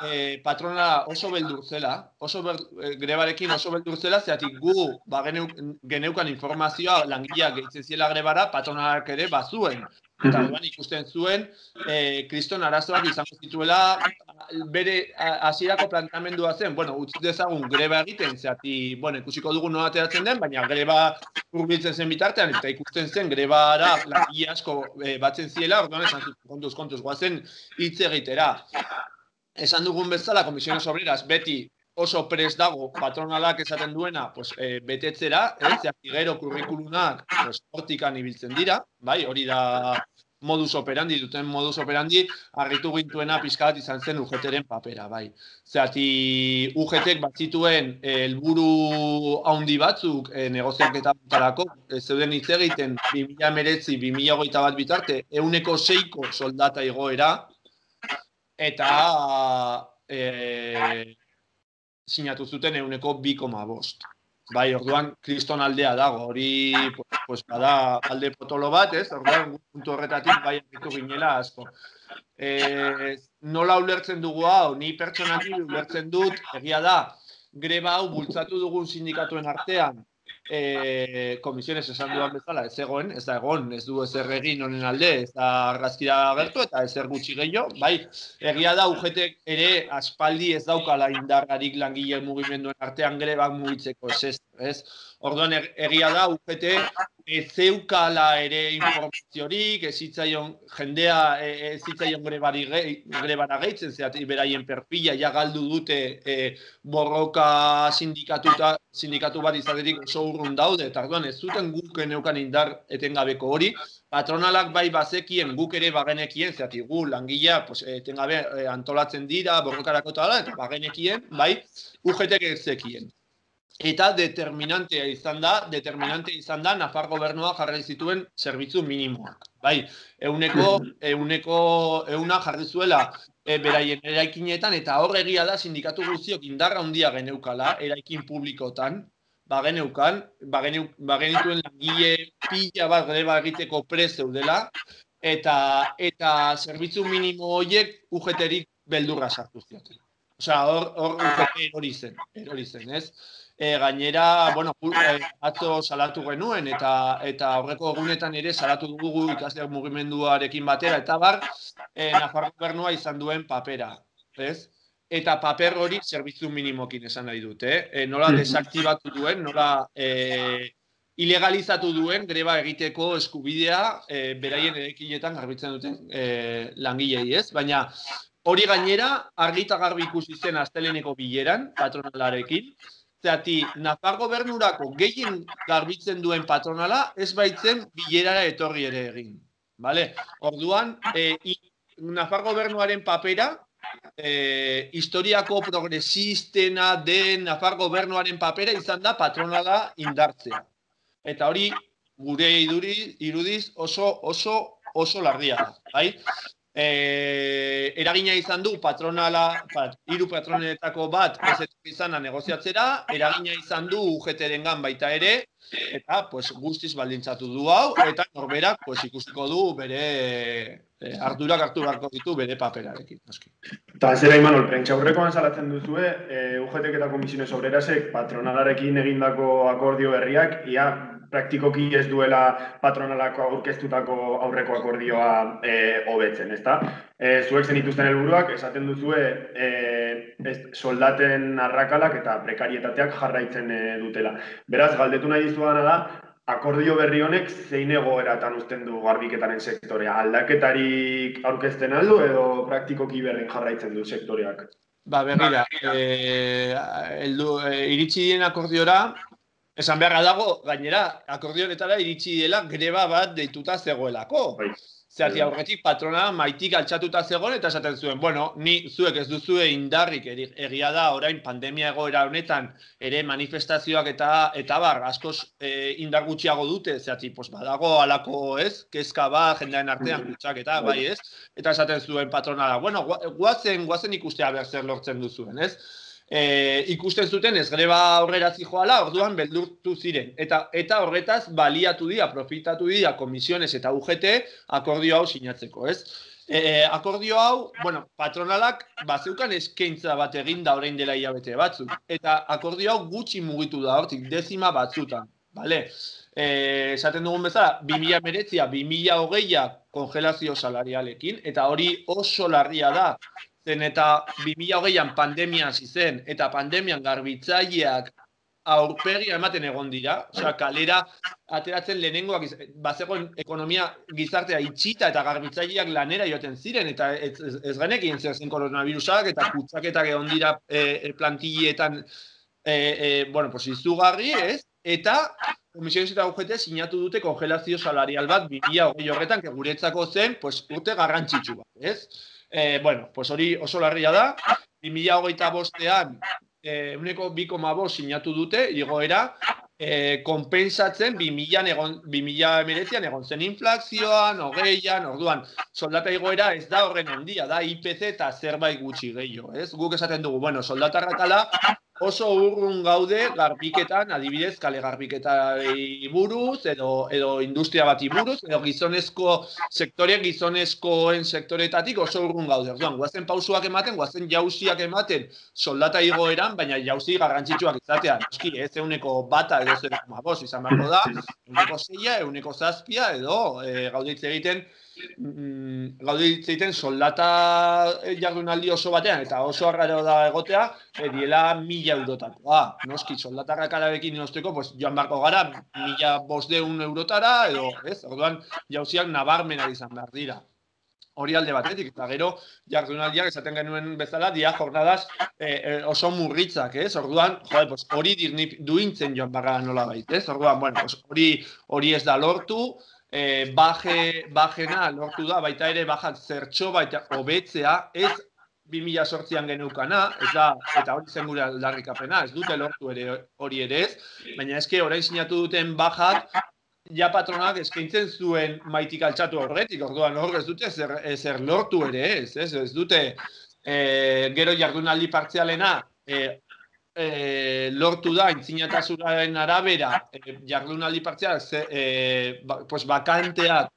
eh, patrona oso beldur zela, oso ber, eh, grebarekin oso beldur zela, zeatik gu ba, geneuk, geneukan informazioa langileak gehitzen ziela grebara, patronak ere bazuen. Eta duan ikusten zuen, eh, kriston arazoak izango zituela, bere hasierako planteamendua zen, bueno, utzi dezagun greba egiten, zeati, bueno, ikusiko dugu nola ateratzen den, baina greba hurbiltzen zen bitartean, eta ikusten zen grebara langile asko e, batzen ziela, orduan esan zuten, kontuz, kontuz, guazen hitz egitera. Esan dugun bezala, komisiones obreras beti oso prest dago patronalak esaten duena, pues, e, betetzera, ez, zeati gero kurrikulunak pues, hortikan ibiltzen dira, bai, hori da modus operandi, duten modus operandi, harritu gintuena pizkat izan zen U G T-ren papera, bai. Zeati U G T-ek bat zituen helburu handi batzuk e, negoziaketa batarako, e, zeuden hitz egiten bi mila hemeretzi bi mila hogeita bat bitarte, ehuneko seiko soldata igoera, eta e, sinatu zuten ehuneko bi koma bost. Bai, orduan, kriston aldea dago, hori, pues, pues, bada alde potolo bat, ez? Orduan, puntu horretatik bai ditu ginela asko. E, nola ulertzen dugu hau, ni pertsonali ulertzen dut, egia da, greba hau bultzatu dugun sindikatuen artean, e, komisiones esan duan bezala, ez egoen, ez da egon, ez du ezer egin honen alde, ez da argazkira agertu eta ezer gutxi gehiago, bai, egia da U G T ere aspaldi ez daukala indargarik langile mugimenduen artean grebak mugitzeko, ez ez, ez? Orduan egia da U G T ez zeukala ere informaziorik, ez zitzaion jendea ez zitzaion grebari grebara gehitzen, zeati beraien perfila ja galdu dute e, borroka sindikatuta sindikatu bat izaterik oso urrun daude, eta orduan ez zuten guk neukan indar etengabeko hori, patronalak bai bazekien, guk ere bagenekien, zeati gu langilea pues, etengabe antolatzen dira, borrokarako eta eta bagenekien, bai, U G T-ek ez zekien. Eta determinantea izan da, determinantea izan da, Nafar gobernua jarri zituen zerbitzu minimoak. Bai, euneko, euneko, euna jarri zuela e, beraien eraikinetan, eta hor egia da sindikatu guztiok indarra handia geneukala, eraikin publikotan, bageneukan, bageneuk, bagenituen langile pila bat greba egiteko prest zeudela, eta, eta zerbitzu minimo horiek U G T-erik beldurra sartu zioten. Osea, hor, hor U G T erori zen, erori zen, ez? E, gainera, bueno, e, atzo salatu genuen eta eta aurreko egunetan ere salatu dugu ikasleak mugimenduarekin batera eta bar, e, Nafar gobernua izan duen papera, ez? Eta paper hori zerbitzu minimokin esan nahi dut, eh? E, nola desaktibatu duen, nola e, ilegalizatu duen greba egiteko eskubidea e, beraien eraikinetan garbitzen duten e, langilei, ez? Baina hori gainera argi eta garbi ikusi zen asteleheneko bileran patronalarekin. Zeati, Nafar gobernurako gehien garbitzen duen patronala ez baitzen bilerara etorri ere egin. Vale? Orduan, e, Nafar gobernuaren papera, e, historiako progresistena den Nafar gobernuaren papera izan da patronala indartzea. Eta hori gure iduri, irudiz oso, oso, oso larria da. Bai? E, eragina izan du patronala, bat, hiru patronetako bat ez etorri izana negoziatzera, eragina izan du U G T-rengan baita ere, eta pues, guztiz baldintzatu du hau, eta norberak pues, ikustiko du bere e, ardurak hartu beharko ditu bere paperarekin. Eta zera Imanol, prentxaurrekoan salatzen duzue, e, U G T eta Komisiones Obrerasek patronalarekin egindako akordio berriak, ia praktikoki ez duela patronalako aurkeztutako aurreko akordioa e, hobetzen, ezta? E, zuek zenituzten helburuak esaten duzue e, ez, soldaten arrakalak eta prekarietateak jarraitzen e, dutela. Beraz, galdetu nahi dizuana da, akordio berri honek zein egoeratan uzten du garbiketaren sektorea? Aldaketarik aurkezten aldu edo praktikoki berdin jarraitzen du sektoreak? Ba, begira, e, eldu, e, iritsi dien akordiora, esan beharra dago, gainera, akordionetara iritsi dela greba bat deituta zegoelako. Zerati aurretik patrona maitik altxatuta zegoen eta esaten zuen, bueno, ni zuek ez duzue indarrik egia da orain pandemia egoera honetan ere manifestazioak eta eta bar, askoz e, indar gutxiago dute, zerati, pues badago alako ez, kezka bat, jendearen artean gutxak eta bai ez, eta esaten zuen patronala, bueno, guazen, guazen ikustea behar zer lortzen duzuen, ez? E, ikusten zuten ez greba aurrera zijoala, orduan beldurtu ziren. Eta, eta horretaz baliatu dira, profitatu dira Komisiones eta U G T akordio hau sinatzeko, ez? E, akordio hau, bueno, patronalak bazeukan eskaintza bat eginda orain dela hilabete batzuk. Eta akordio hau gutxi mugitu da hortik, dezima batzutan, bale? E, esaten dugun bezala, bi mila hemeretzia, bi mila hogeia kongelazio salarialekin, eta hori oso larria da. Zen eta bi mila hogeian pandemia hasi zen, eta pandemian garbitzaileak aurpegia ematen egon dira, osea, kalera ateratzen lehenengoak, bazegoen ekonomia gizartea itxita eta garbitzaileak lanera joaten ziren, eta ez, ez, ez genekien zer zen koronavirusak, eta kutsaketak egon dira e, plantilletan, e, e, bueno, pues izugarri, ez? Eta Komisiones eta U G T sinatu dute kongelazio salarial bat bi mila hogei horretan, que guretzako zen, pues, urte garrantzitsu bat, ez? Eh, bueno, pues hori oso larria da, bi mila hogeita bostean eh, uneko bi koma bost sinatu dute, igoera, eh, konpensatzen bi mila hemeretzian egon zen inflazioan, hogeian, orduan, soldata igoera ez da horren handia, da I P C eta zerbait gutxi gehiago, ez? Guk esaten dugu, bueno, soldata arrakala oso urrun gaude garbiketan, adibidez, kale garbiketari buruz, edo, edo industria bati buruz, edo gizonezko sektore, gizonezkoen sektoretatik oso urrun gaude. Orduan, guazen pausuak ematen, guazen jauziak ematen soldata igoeran, baina jauzi garrantzitsuak izatea. Noski, ez euneko bata edo zero koma bost izan beharko da, euneko zeia, euneko zazpia, edo e, gauditze egiten, Mm, gauditze egiten soldata jardunaldi oso batean eta oso arraro da egotea, e, diela mila eurotakoa. Noski, soldata arrakalarekin inosteko, pues, joan barko gara, mila bostehun eurotara, edo, ez, orduan, jauziak nabarmena izan behar dira. Hori alde batetik, eta gero, jardunaldiak esaten genuen bezala, dia jornadas e, e, oso murritzak, ez? Orduan, jode, pues, hori duintzen joan barra nola bait, ez? Orduan, bueno, pues, hori, hori ez da lortu, E, baje, bajena lortu da, baita ere bajak zertxo baita hobetzea, ez bi mila zortzian geneukana, ez da, eta hori zen gure aldarrikapena, ez dute lortu ere hori ere ez, baina eske orain sinatu duten bajak, ja patronak eskaintzen zuen maitik altxatu horretik, orduan hor ez dute zer, zer lortu ere ez, ez, ez dute e, gero jardunaldi partzialena, e, E, lortu da, intzinatasunaren arabera, e, jardunaldi partzialak, e, ba, pues, bakanteak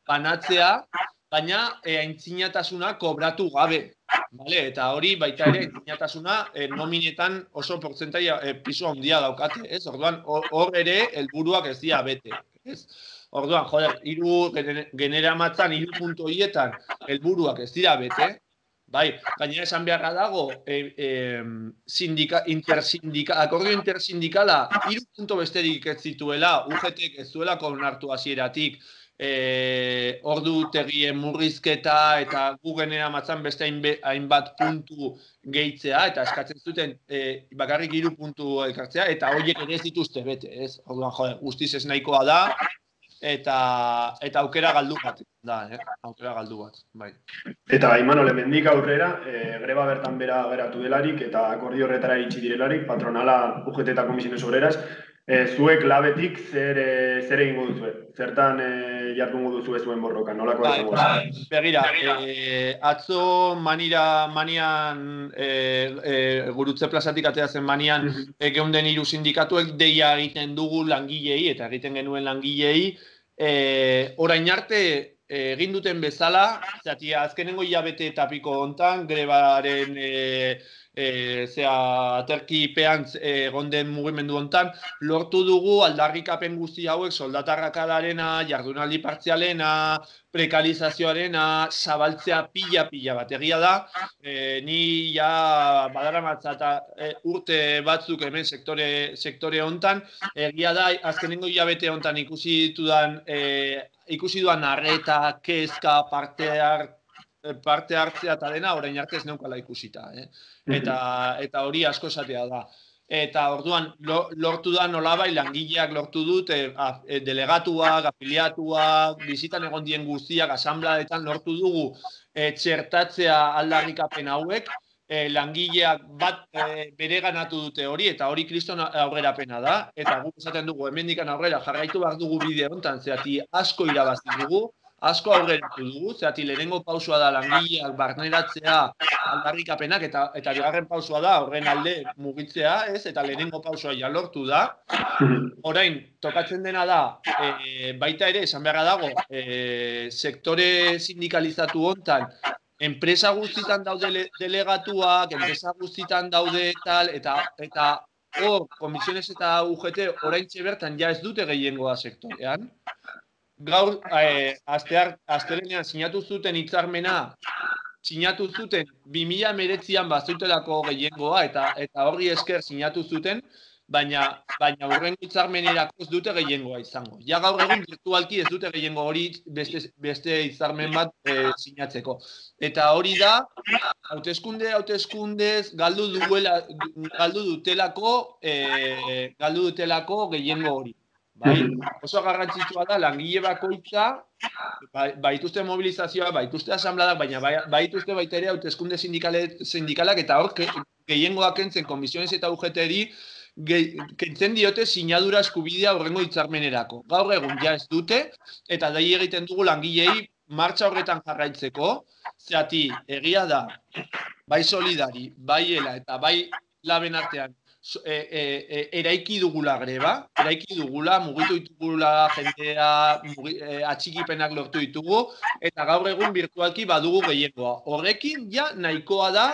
banatzea, baina e, intzinatasuna kobratu gabe. Vale? Eta hori baita ere intzinatasuna e, nominetan oso portzentaia e, pisu handia daukate. Ez? Orduan, hor ere helburuak ez dira bete. Ez? Orduan, joder, hiru genera matzan, hiru puntu horietan helburuak ez dira bete. Bai, gainera esan beharra dago, e, e, sindika, intersindika, akordio intersindikala hiru puntu besterik ez zituela, U G T ez zuelako onartu hasieratik, e, ordu tegien murrizketa eta gu genera matzan beste hainbat puntu gehitzea, eta eskatzen zuten e, bakarrik hiru puntu elkartzea, eta horiek ere ez dituzte bete, ez? Orduan, jode, guztiz ez nahikoa da, eta eta aukera galdu bat da, eh? Aukera galdu bat, bai. Eta Imanol, hemendik aurrera, e, greba bertan bera geratu delarik eta akordio horretara iritsi direlarik, patronala U G T eta Komisiones Obreras, zuek labetik zer, zer egingo duzue? Zertan jardungo duzue zuen borroka? Nolako izango da? Begira, eh, atzo manira, manian, eh, eh, gurutze plazatik atea zen manian, eh, geunden hiru sindikatuek deia egiten dugu langilei, eta egiten genuen langilei, eh, orain arte egin duten bezala, zati azkenengo hilabete tapiko hontan, grebaren e, e, zea, aterkipean egon den mugimendu hontan, lortu dugu aldarrikapen guzti hauek soldatarrakadarena, jardunaldi partzialena, prekalizazioarena, zabaltzea pila-pila bat. Egia da, e, ni ja badaramatza eta e, urte batzuk hemen sektore, sektore hontan, egia da, azkenengo hilabete hontan ikusi ditudan e, ikusi duan arreta, kezka, parte, har, parte hartzea eta dena, orain arte ez neukala ikusita. Eh? Eta, eta hori asko esatea da. Eta orduan, lortu da nolabai langileak lortu dut, e, a, e, delegatuak, afiliatuak, bizitan egon dien guztiak, asambladetan lortu dugu e, txertatzea aldarrikapen hauek, e, langileak bat e, bere ganatu dute hori, eta hori kriston aurrerapena da, eta guk esaten dugu, hemendikan aurrera jarraitu behar dugu bide honetan, zehati asko irabazi dugu, asko aurreratu dugu, zehati lehenengo pausua da langileak barneratzea aldarrikapenak, eta, eta bigarren pausua da horren alde mugitzea, ez, eta lehenengo pausua ja lortu da. Orain, tokatzen dena da, e, baita ere, esan beharra dago, e, sektore sindikalizatu hontan, enpresa guztitan daude delegatuak, enpresa guztitan daude tal, eta eta hor, komisiones eta U G T oraintxe bertan ja ez dute gehiengoa sektorean. Gaur, eh, astelenean sinatu zuten hitzarmena, sinatu zuten bi mila hemeretzian bazutelako gehiengoa, eta eta horri esker sinatu zuten, baina baina hurrengo hitzarmenerako ez dute gehiengoa izango. Ja gaur egun virtualki ez dute gehiengo hori beste, beste hitzarmen bat e, sinatzeko. Eta hori da, hauteskunde, hauteskundez galdu duela, galdu dutelako, e, galdu dutelako gehiengo hori. Bai, oso garrantzitsua da langile bakoitza, baituzte mobilizazioa, baituzte asambladak, baina baituzte baita ere hauteskunde sindikalak, eta hor gehiengoak kentzen komisiones eta U G T-eri kentzen diote sinadura eskubidea horrengo hitzarmenerako. Gaur egun ja ez dute, eta dai egiten dugu langilei martxa horretan jarraitzeko, zehati egia da, bai solidari, bai ela eta bai laben artean, E, e, e, eraiki dugula greba, eraiki dugula, mugitu ditugula jendea, mugi, e, atxikipenak lortu ditugu, eta gaur egun virtualki badugu gehiengoa. Horrekin ja nahikoa da,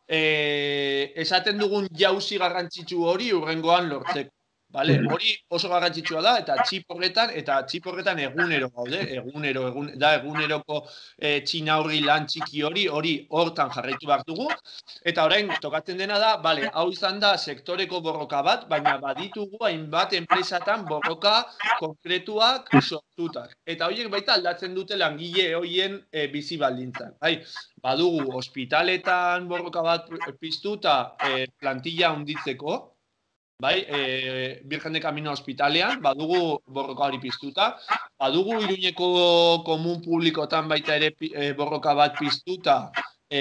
e, esaten dugun jauzi garrantzitsu hori hurrengoan lortzeko. Vale? Hori oso garrantzitsua da, eta txip horretan, eta txip horretan egunero gaude, egunero, egun, da eguneroko e, txinaurri lan txiki hori, hori hortan jarraitu behar dugu, eta orain tokatzen dena da, vale, hau izan da sektoreko borroka bat, baina baditugu hainbat enpresatan borroka konkretuak sortutak. Eta horiek baita aldatzen dute langile horien e, bizi baldintzan. Bai, badugu ospitaletan borroka bat piztuta e, plantilla handitzeko, bai, e, Virgen de Camino Hospitalean, badugu borroka hori piztuta, badugu Iruñeko komun publikotan baita ere e, borroka bat piztuta, e,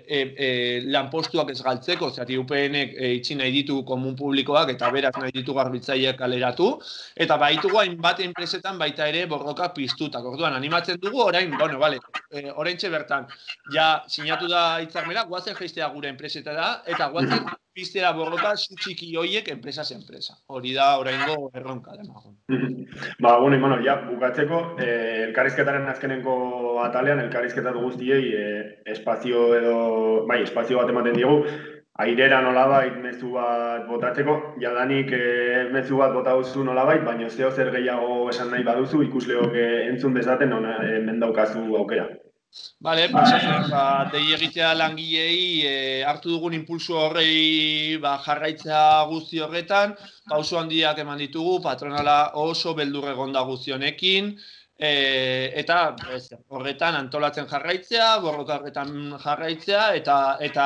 e, e, lanpostuak ez galtzeko, zati U P N-ek e, itxi nahi ditu komun publikoak eta beraz nahi ditu garbitzaileak kaleratu, eta baitugu hainbat enpresetan baita ere borroka piztutak. Orduan, animatzen dugu orain, bueno, vale, e, oraintxe bertan, ja sinatu da hitzarmena, guazen jaistea gure enpresetara, eta guazen piztera borroka zutxiki hoiek enpresa zen enpresa. Hori da oraingo erronka demagun. Ba, bueno, Imano, ja, bukatzeko, eh, elkarrizketaren azkenenko atalean, elkarrizketatu guztiei eh, espazio edo, bai, espazio bat ematen diegu, airera nolabait mezu bat botatzeko, jadanik eh, mezu bat bota duzu nolabait, baina zeo zer gehiago esan nahi baduzu, ikusleok eh, entzun dezaten, ona, eh, mendaukazu aukera. Bale, pues, ba, dei egitea langilei e, hartu dugun impulsu horrei ba, jarraitza guzti horretan, pauso handiak eman ditugu, patronala oso beldur egonda guzti honekin, e, eta ez, horretan antolatzen jarraitzea, borroka horretan jarraitzea, eta, eta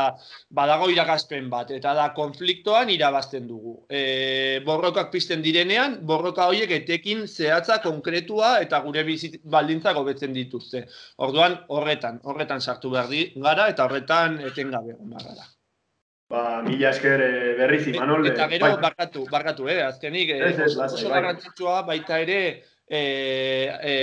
badago irakaspen bat, eta da konfliktoan irabazten dugu. E, borrokak pizten direnean, borroka horiek etekin zehatza konkretua eta gure bizit baldintzak hobetzen dituzte. Orduan, horretan, horretan sartu behar gara, eta horretan etengabe egon behar gara. Ba, mila esker berriz, Imanol. Eta gero, barkatu, barkatu, eh? Azkenik, oso garrantzitsua baita ere, E, e,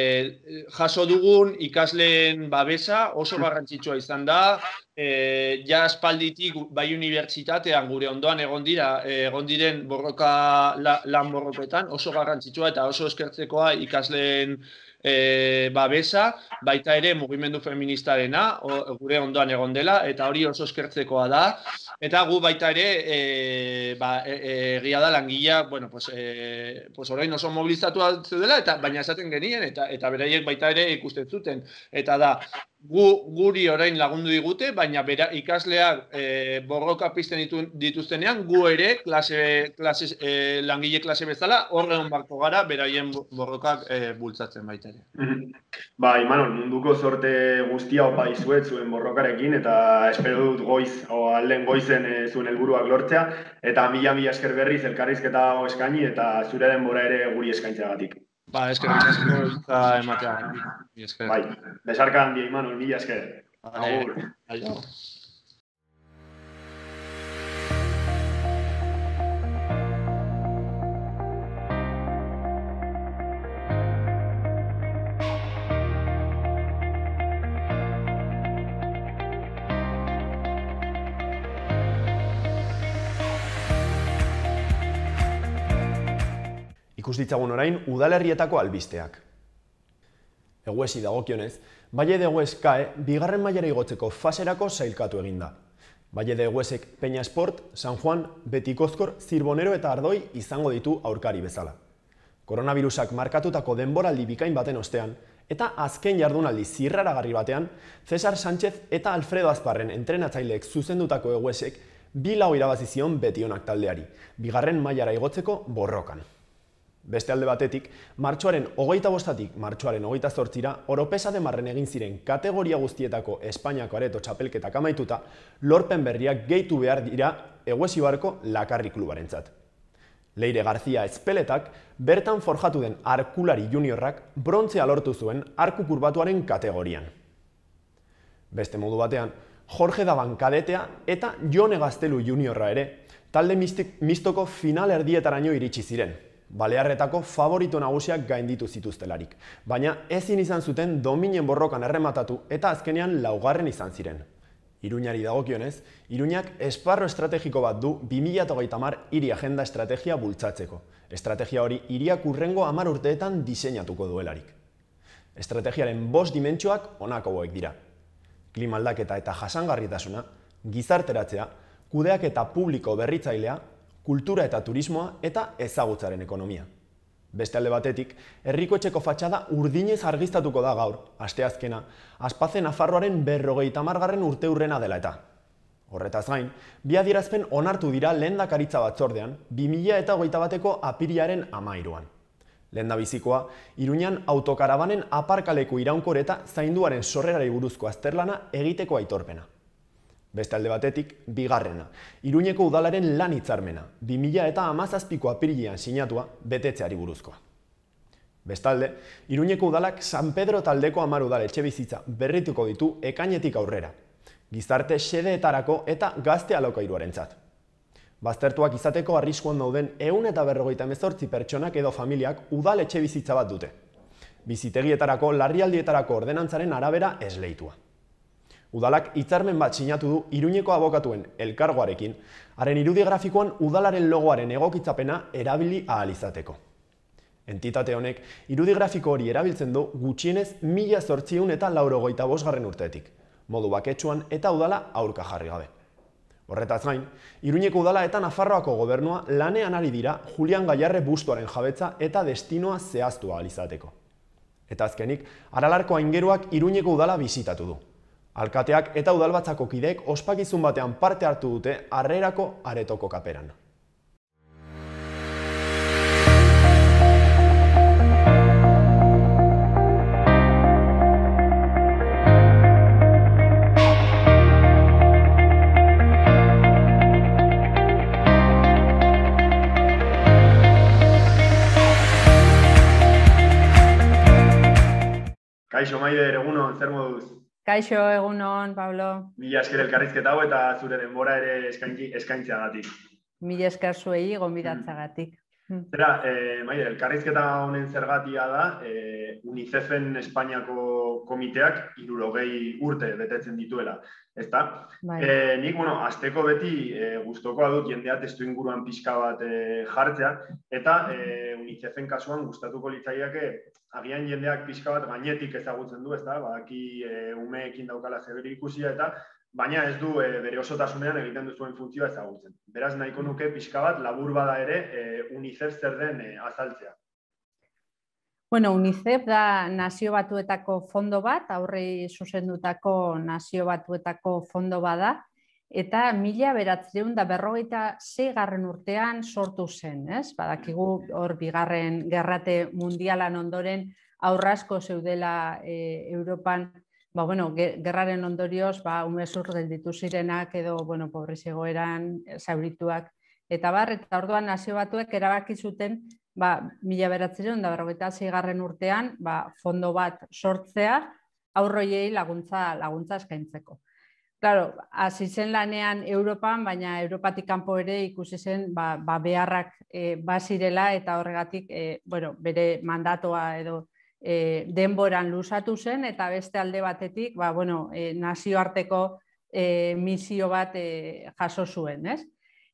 jaso dugun ikasleen babesa oso garrantzitsua izan da, e, ja aspalditik bai unibertsitatean gure ondoan egon dira, egon diren borroka, la, lan borroketan oso garrantzitsua eta oso eskertzekoa ikasleen e, babesa, baita ere mugimendu feministarena o, gure ondoan egon dela, eta hori oso eskertzekoa da, eta gu baita ere e, ba, egia e, da langilea, bueno, pues, e, pues orain oso mobilizatu zeudela, eta baina esaten genien, eta eta beraiek baita ere ikusten zuten. Eta da, gu, guri orain lagundu digute, baina bera, ikasleak e, borroka pizten ditu, dituztenean, gu ere klase, klase, e, langile klase bezala, horren barko gara, beraien borrokak e, bultzatzen baita ere. Ba, Imanol, munduko zorte guztia opa izuet zuen borrokarekin, eta espero dut goiz, o alden goizen e, zuen helburuak lortzea, eta mila-mila esker berriz elkarrizketa eskaini, eta zure denbora ere guri eskaintzeagatik. Ba, eskerrik asko eta ematea. Bai, besarka handia, Imanol, mila esker. Agur. Aio. Ikus ditzagun orain udalerrietako albisteak. Eguesi dagokionez, Valle de Egues K A E bigarren mailara igotzeko faserako sailkatu eginda. Valle de Eguesek Peña Sport, San Juan, Betikozkor, Zirbonero eta Ardoi izango ditu aurkari bezala. Koronavirusak markatutako denboraldi bikain baten ostean, eta azken jardunaldi zirraragarri batean, Cesar Sánchez eta Alfredo Azparren entrenatzaileek zuzendutako Eguesek bi lau irabazi zion Betionak taldeari, bigarren mailara igotzeko borrokan. Beste alde batetik, martxoaren hogeita bostatik martxoaren hogeita zortzira, Oropesa de Marren egin ziren kategoria guztietako Espainiako areto txapelketak amaituta, lorpen berriak gehitu behar dira Eguesibarko Lakarri klubarentzat. Leire García Ezpeletak bertan forjatu den arkulari juniorrak brontzea lortu zuen arku kurbatuaren kategorian. Beste modu batean, Jorge Daban kadetea eta Jone Gaztelu juniorra ere talde mistoko final erdietaraino iritsi ziren. Balearretako favorito nagusiak gainditu zituztelarik, baina ezin izan zuten dominen borrokan errematatu eta azkenean laugarren izan ziren. Iruñari dagokionez, Iruñak esparro estrategiko bat du bi mila hogeita hamar hiri agenda estrategia bultzatzeko. Estrategia hori hiriak hurrengo hamar urteetan diseinatuko duelarik. Estrategiaren bost dimentsioak honako hauek dira. Klima aldaketa eta jasangarritasuna, gizarteratzea, kudeaketa publiko berritzailea, kultura eta turismoa eta ezagutzaren ekonomia. Beste alde batetik, herriko etxeko fatxada urdinez argiztatuko da gaur, asteazkena, Aspaze Nafarroaren berrogeita hamargarren urteurrena dela eta. Horretaz gain, bi adierazpen onartu dira lehendakaritza batzordean, bi mila hogeita bateko apirilaren hamairuan. Lehendabizikoa, Iruñan autokarabanen aparkaleku iraunkor eta zainduaren sorrerari buruzko azterlana egiteko aitorpena. Beste alde batetik, bigarrena, Iruñeko udalaren lan hitzarmena, bi mila hamazazpiko apirilean sinatua betetzeari buruzkoa. Bestalde, Iruñeko udalak San Pedro taldeko hamar udal etxebizitza berrituko ditu ekainetik aurrera, gizarte xedeetarako eta gazte alokairuarentzat. Baztertuak izateko arriskuan dauden ehun eta berrogeita hemezortzi pertsonak edo familiak udal etxebizitza bat dute. Bizitegietarako larrialdietarako ordenantzaren arabera esleitua. Udalak hitzarmen bat sinatu du Iruñeko abokatuen elkargoarekin, haren irudi grafikoan udalaren logoaren egokitzapena erabili ahal izateko. Entitate honek irudi grafiko hori erabiltzen du gutxienez mila zortziehun eta laurogeita bosgarren urteetik, modu baketsuan eta udala aurka jarri gabe. Horretaz gain, Iruñeko udala eta Nafarroako gobernua lanean ari dira Julian Gallarre bustoaren jabetza eta destinoa zehaztu ahal izateko. Eta azkenik, Aralarko aingeruak Iruñeko udala bisitatu du. Alkateak eta udalbatzako kideek ospakizun batean parte hartu dute harrerako aretoko kaperan. Kaixo, Maider, egunon, zer moduz? Kaixo, egunon, Pablo. Mila esker elkarrizketa hau eta zure denbora ere eskaintzeagatik. Mila esker zuei gonbidatzagatik. Zera, eh, Maider, elkarrizketa honen zergatia da, eh, UNICEFen Espainiako komiteak hirurogei urte betetzen dituela, ezta? Bai. Eh, nik, bueno, azteko beti eh, gustokoa dut jendea testu inguruan pixka bat eh, jartzea, eta eh, UNICEFen kasuan gustatuko litzaiake agian jendeak pixka bat gainetik ezagutzen du, ezta? Badaki eh, umeekin daukala zeberi ikusia eta baina ez du e, bere osotasunean egiten duzuen funtzioa ezagutzen. Beraz, nahiko nuke pixka bat labur bada ere e, UNICEF zer den e, azaltzea. Bueno, UNICEF da nazio batuetako fondo bat, aurrei zuzendutako nazio batuetako fondo bada, eta mila bederatziehun eta berrogeita seigarren urtean sortu zen, ez? Badakigu hor bigarren gerrate mundialan ondoren aurrasko zeudela e, Europan. Ba, bueno, gerraren ondorioz, ba, umezur gelditu zirenak edo, bueno, pobrezi egoeran, zaurituak, eta bar, eta orduan nazio batuek erabaki zuten, ba, mila bederatziehun eta berrogeita seigarren urtean, ba, fondo bat sortzea, aurroiei laguntza, laguntza eskaintzeko. Claro, hasi zen lanean Europan, baina Europatik kanpo ere ikusi zen, ba, ba beharrak e, bazirela, eta horregatik, e, bueno, bere mandatoa edo E, denboran luzatu zen, eta beste alde batetik ba, bueno, e, nazioarteko e, misio bat e, jaso zuen. Ez?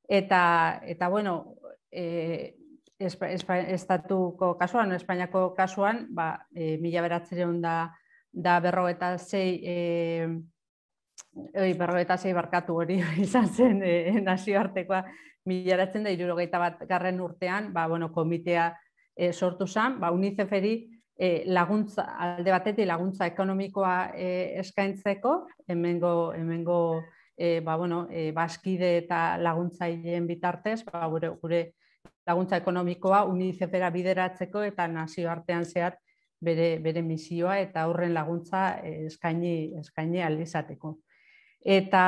Eta, eta bueno, e, espa, espa, estatuko kasuan, Espainiako kasuan, ba, e, mila bederatziehun da berrogeita sei e, berrogeita sei barkatu hori izan zen e, nazioartekoa mila bederatziehun eta hirurogeita bat garren urtean, ba, bueno, komitea e, sortu zen, ba, UNICEFeri E, laguntza, alde batetik laguntza ekonomikoa e, eskaintzeko, hemengo, hemengo e, ba, bueno, e, baskide eta laguntzaileen bitartez, ba, gure, gure laguntza ekonomikoa UNICEFera bideratzeko eta nazioartean zehar bere, bere misioa eta horren laguntza e, eskaini, eskaini aldizateko. Eta,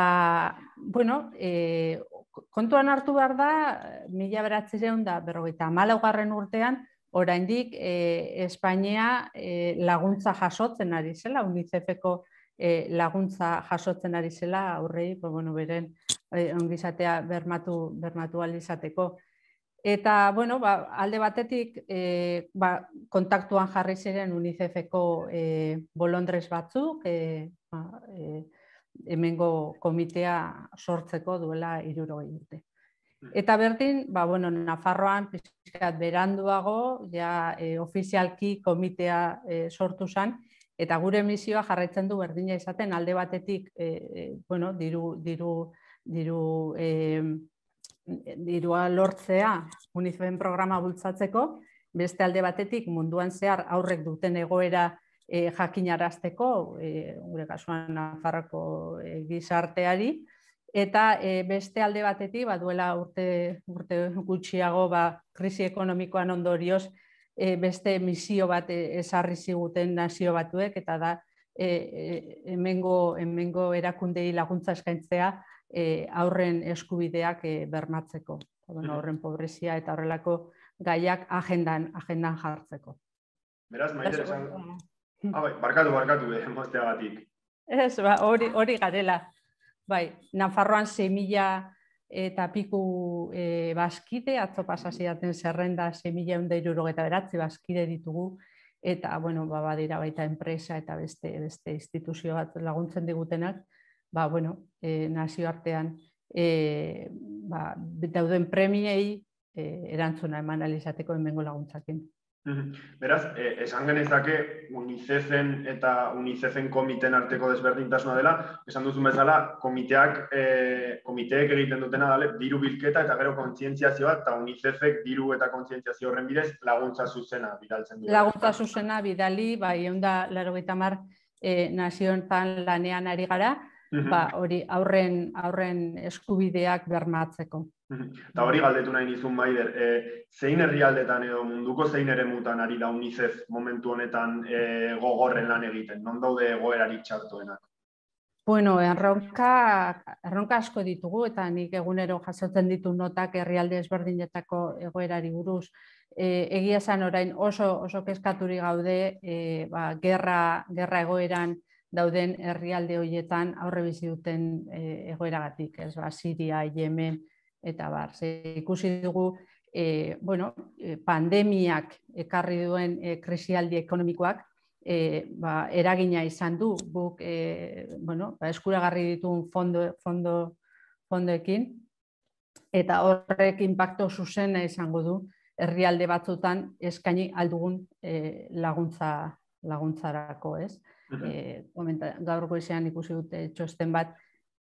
bueno, e, kontuan hartu behar da, mila bederatziehun eta berrogeita hamalaugarren urtean, oraindik eh, Espainia eh, laguntza jasotzen ari zela, UNICEFeko eh, laguntza jasotzen ari zela, aurrei, pues, bueno, beren eh, ongizatea bermatu, bermatu alizateko. Eta, bueno, ba, alde batetik eh, ba, kontaktuan jarri ziren UNICEFeko eh, bolondrez batzuk, eh, ba, eh, hemengo komitea sortzeko duela hirurogei urte. Eta berdin, ba, bueno, Nafarroan pixkat beranduago, ja e, ofizialki komitea e, sortu zen, eta gure misioa jarraitzen du berdina izaten alde batetik, e, bueno, diru, diru, diru, e, dirua lortzea UNICEFen programa bultzatzeko, beste alde batetik munduan zehar aurrek duten egoera e, jakinarazteko, e, gure kasuan Nafarroko e, gizarteari, eta e, beste alde batetik, ba, duela urte, urte gutxiago ba, krisi ekonomikoan ondorioz e, beste misio bat ezarri ziguten nazio batuek, eta da e, e, hemengo, hemengo erakundei laguntza eskaintzea e, aurren eskubideak e, bermatzeko, bueno, aurren pobrezia eta horrelako gaiak agendan, agendan jartzeko. Beraz, Maider, esan... Ah, bai, barkatu, barkatu, eh, mozteagatik. Ez, ba, hori, hori garela. Bai, Nafarroan sei mila eta piku e, baskide, atzo pasasiaten zerrenda sei mila ehun eta hirurogeita bederatzi baskide ditugu, eta, bueno, ba, badira baita enpresa eta beste, beste instituzio bat laguntzen digutenak, ba, bueno, e, nazioartean e, ba, dauden premiei e, erantzuna eman alizateko hemengo laguntzakin. Beraz, eh, esan genezake UNICEFen eta UNICEFen komiten arteko desberdintasuna dela, esan duzun bezala, komiteak, eh, komiteek egiten dutena dale, diru bilketa eta gero kontzientziazioa, eta UNICEFek diru eta kontzientziazio horren bidez laguntza zuzena bidaltzen du. Laguntza zuzena bidali, bai, ehun eta laurogeita hamar eh, nazioetan lanean ari gara, ba, hori aurren, aurren eskubideak bermatzeko. Eta hori galdetu nahi nizun, Maider, e, zein herrialdetan edo munduko zein eremutan ari da UNICEF momentu honetan e, gogorren lan egiten? Non daude egoerarik txartoenak? Bueno, erronka, erronka asko ditugu, eta nik egunero jasotzen ditu notak herrialde ezberdinetako egoerari buruz. E, egia esan orain oso, oso kezkaturik gaude, e, ba, gerra, gerra egoeran dauden herrialde horietan aurre bizi duten egoeragatik, ez ba, Siria, Yemen, eta bar. Ze ikusi dugu, e, bueno, pandemiak ekarri duen e, krisialdi ekonomikoak e, ba, eragina izan du, guk e, bueno, ba, eskuragarri ditugun fondo, fondo, fondoekin, eta horrek inpakto zuzena izango du herrialde batzutan eskaini aldugun e, laguntza laguntzarako, ez? E, gaur goizean ikusi dute txosten bat,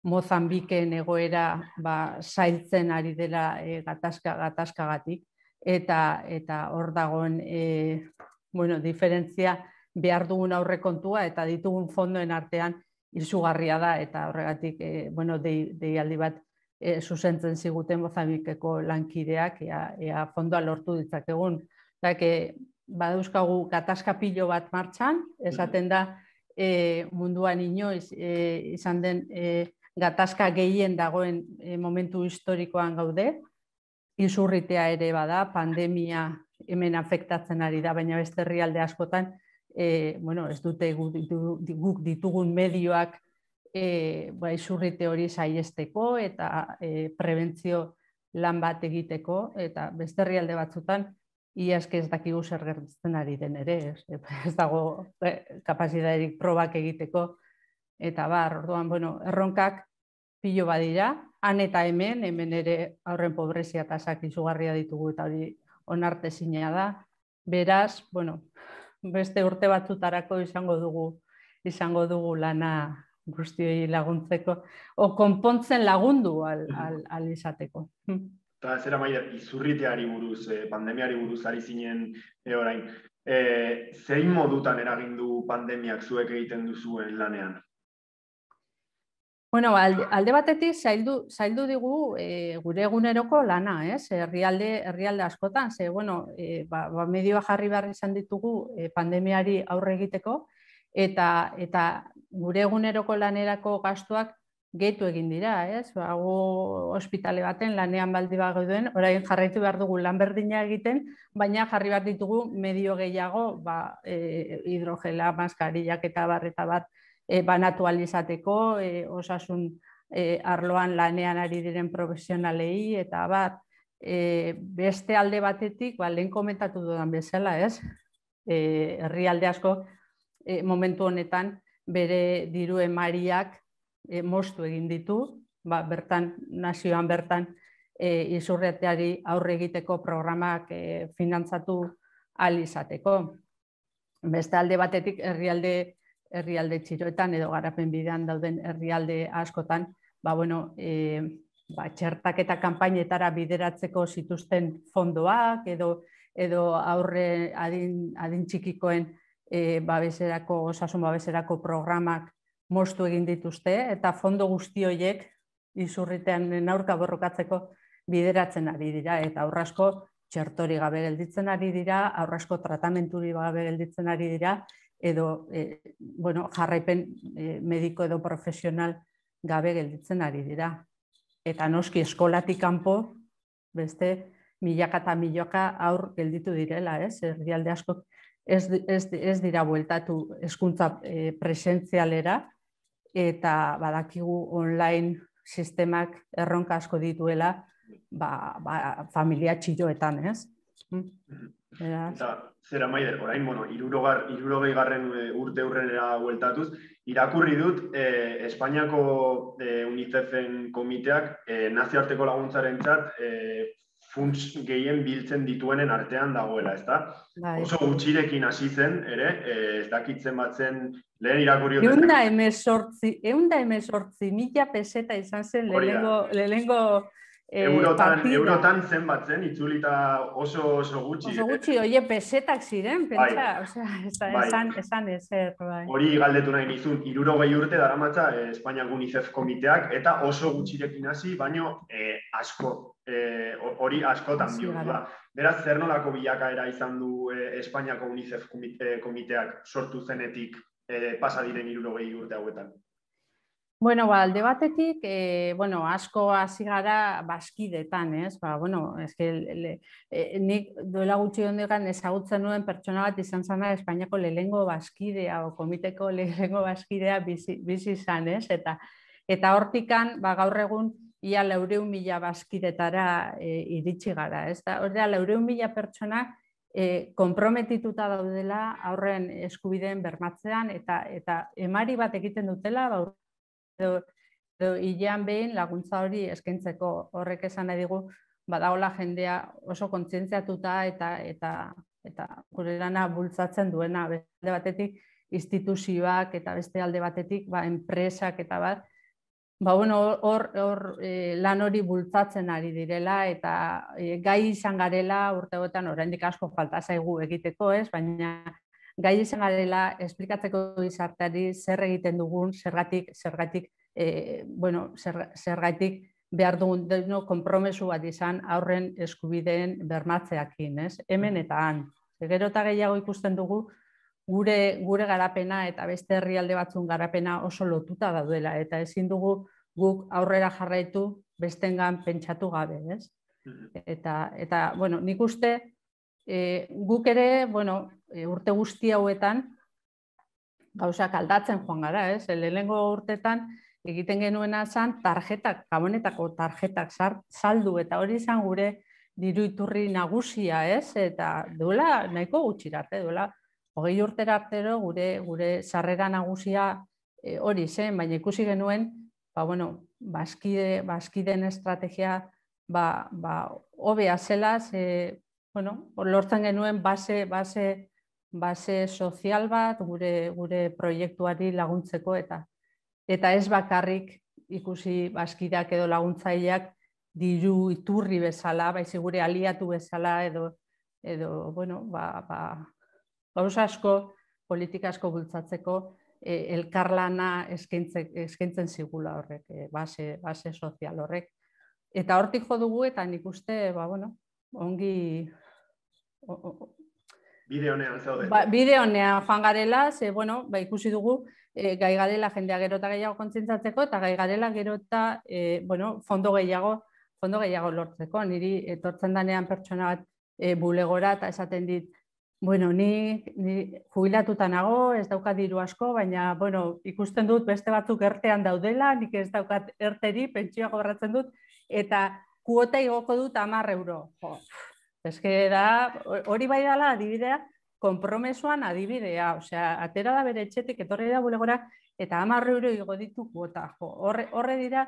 Mozambiken egoera ba, zailtzen ari dela e, gatazka, gatazkagatik, eta eta hor dagoen e, bueno, diferentzia behar dugun aurrekontua eta ditugun fondoen artean izugarria da, eta horregatik e, bueno, dei, deialdi bat e, zuzentzen ziguten Mozambikeko lankideak, ea, ea fondoa lortu ditzakegun. Zake, badauzkagu gatazka pilo bat martxan, esaten da e, munduan inoiz e, izan den e, gatazka gehien dagoen e, momentu historikoan gaude, izurritea ere bada, pandemia hemen afektatzen ari da, baina beste herrialde askotan, e, bueno, ez dute guk, guk ditugun medioak e, ba, izurrite hori saihesteko eta e, prebentzio lan bat egiteko, eta beste herrialde batzutan, iazke ez dakigu zer gertatzen ari den ere, ez, ez dago e, kapazitaterik probak egiteko, eta bar, orduan, bueno, erronkak pilo badira, han eta hemen, hemen ere aurren pobrezia tasak izugarria ditugu eta hori onartezina da. Beraz, bueno, beste urte batzutarako izango dugu, izango dugu lana guztioi laguntzeko, o konpontzen lagundu al, al, al izateko. Eta zera Maider, izurriteari buruz, pandemiari buruz ari zinen e, orain. E, zein modutan eragindu pandemiak zuek egiten duzuen lanean? Bueno, alde, alde batetik zaildu, zaildu digu e, gure eguneroko lana, ez? Herrialde, herrialde askotan, ze, bueno, e, ba, ba, medioa jarri behar izan ditugu e, pandemiari aurre egiteko, eta, eta gure eguneroko lanerako gastuak gehitu egin dira, ez? Ba, gu ospitale baten lanean baldi bagoen, orain jarraitu behar dugu lan berdina egiten, baina jarri behar ditugu medio gehiago, ba, e, hidrogela, maskarillak eta bar eta bat, E, banatu alizateko, e, osasun e, arloan lanean ari diren profesionalei, eta bat, e, beste alde batetik, ba, lehen komentatu dudan bezala, ez? E, herrialde asko e, momentu honetan bere diru emariak e, moztu egin ditu, ba, bertan, nazioan bertan, e, izurreteari aurre egiteko programak e, finantzatu alizateko. Beste alde batetik, herrialde herrialde txiroetan edo garapen bidean dauden herrialde askotan, ba, bueno, e, ba, txertaketa kanpainetara bideratzeko zituzten fondoak edo, edo aurre adin, adin txikikoen e, babeserako, osasun babeserako programak moztu egin dituzte, eta fondo guzti horiek izurritean aurka borrokatzeko bideratzen ari dira, eta aurrasko txertori gabe gelditzen ari dira, aurrasko tratamenturik gabe gelditzen ari dira, edo e, bueno, jarraipen e, mediko edo profesional gabe gelditzen ari dira. Eta noski eskolatik kanpo beste milaka eta milaka aur gelditu direla, ez? Herrialde asko ez, ez, ez dira bueltatu hezkuntza e, presentzialera, eta badakigu online sistemak erronka asko dituela ba, ba, familia txiroetan, ez? Eta, zera Maider, orain, bueno, hirurogei garren urte hurrenera bueltatuz, irakurri dut eh, Espainiako eh, UNICEFen komiteak eh, nazioarteko laguntzarentzat eh, funts gehien biltzen dituenen artean dagoela, ezta? Bai. Oso gutxirekin hasi zen, ere, eh, ez dakitzen batzen lehen irakurri dut. Eunda emezortzi, eunda emezortzi mila peseta izan zen lehenengo, lehenengo Eurotan, eurotan zen batzen, itzulita oso oso gutxi. Oso gutxi, oie, pesetak ziren, pentsa, osea, esan, esan ezer, bai. Hori galdetu nahi nizun, hirurogei urte daramatza eh, Espainiak UNICEF komiteak, eta oso gutxirekin hasi, baino eh, asko, hori eh, askotan bihurtu da. Beraz, zer nolako bilakaera izan du eh, Espainiako UNICEF komiteak sortu zenetik eh, pasa diren hirurogei urte hauetan? Bueno, ba, alde batetik, e, bueno, asko hasi gara bazkidetan, ez? Ba, bueno, eske e, nik duela gutxi hondegan ezagutzen nuen pertsona bat izan zana Espainiako lehenengo bazkidea o komiteko lehenengo bazkidea bizi, bizi izan, ez? Eta eta hortikan, ba, gaur egun ia laurehun mila bazkidetara e, iritsi gara, ez? Da, hori da, laurehun mila pertsona e, konprometituta daudela aurren eskubideen bermatzean eta eta emari bat egiten dutela, ba, edo, edo hilean behin laguntza hori eskaintzeko. Horrek esan nahi digu badagola jendea oso kontzientziatuta eta eta eta gure lana bultzatzen duena, beste batetik instituzioak eta beste alde batetik ba, enpresak eta bat, ba, bueno, hor, hor e, lan hori bultzatzen ari direla eta e, gai izan garela urteotan oraindik asko falta zaigu egiteko, ez, baina gai izan garela esplikatzeko gizarteari zer egiten dugun, zergatik, zergatik, e, bueno, zer, zergatik behar dugun deno konpromesu bat izan aurren eskubideen bermatzeakin, ez? Hemen eta han. Gero eta gehiago ikusten dugu gure, gure garapena eta beste herrialde batzun garapena oso lotuta daudela eta ezin dugu guk aurrera jarraitu bestengan pentsatu gabe, ez? Eta, eta bueno, nik uste e, guk ere, bueno, e, urte guzti hauetan gauzak aldatzen joan gara, ez? Lehenengo urtetan egiten genuena zan tarjetak, gabonetako tarjetak saldu eta hori izan gure diru iturri nagusia, ez? Eta duela nahiko gutxirarte, duela hogei urtera artero gure gure sarrera nagusia e, hori zen, baina ikusi genuen, ba bueno, bazkide, bazkideen estrategia ba ba hobea zela, ze bueno, lortzen genuen base base base sozial bat gure gure proiektuari laguntzeko eta eta ez bakarrik ikusi bazkideak edo laguntzaileak diru iturri bezala, baizik gure aliatu bezala edo edo bueno, ba ba gauza asko, politika asko bultzatzeko e, elkarlana eskaintzen eskaintzen zigula horrek, e, base base sozial horrek. Eta hortik jo dugu eta nik uste, ba bueno, ongi o, o, bide honean zaude. Ba, bide honean joan garela, ze bueno, ba ikusi dugu e, gai garela jendea gero eta gehiago kontzientzatzeko eta gai garela gero eta e, bueno, fondo gehiago, fondo gehiago lortzeko. Niri etortzen danean pertsona bat e, bulegora eta esaten dit, bueno, ni, ni jubilatuta nago, ez daukat diru asko, baina bueno, ikusten dut beste batzuk ertean daudela, nik ez daukat erteri, pentsioa kobratzen dut, eta kuota igoko dut hamar euro. Jo, eske da, hori bai dela adibidea, konpromesuan adibidea, osea, atera da bere etxetik, etorri da bulegora, eta hamar euro igo ditu kuota. Jo, horre, horre dira,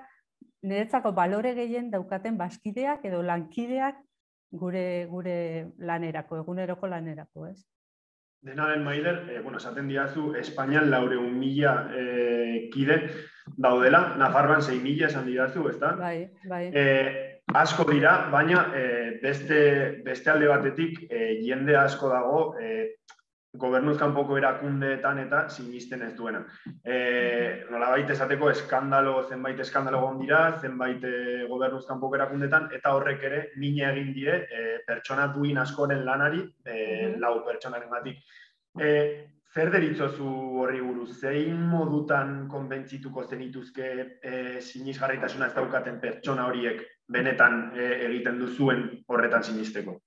niretzako balore gehien daukaten bazkideak edo lankideak gure gure lanerako, eguneroko lanerako, ez? Dena den, Maider, eh, bueno, esaten diazu, Espainian laurehun mila eh, kide daudela, Nafarroan sei mila esan diazu, ezta? Bai, bai. Eh, asko dira, baina eh, beste, beste alde batetik eh, jende asko dago eh, gobernuz kanpoko erakundeetan eta sinisten ez duena. E, nolabait esateko eskandalo, zenbait eskandalo egon dira, zenbait e, gobernuz kanpoko erakundeetan, eta horrek ere mina egin die e, pertsona duin askoren lanari, e, lau pertsonaren batik. E, zer deritzozu horri buruz? Zein modutan konbentzituko zenituzke e, sinisgarritasuna ez daukaten pertsona horiek benetan e, egiten duzuen horretan sinisteko?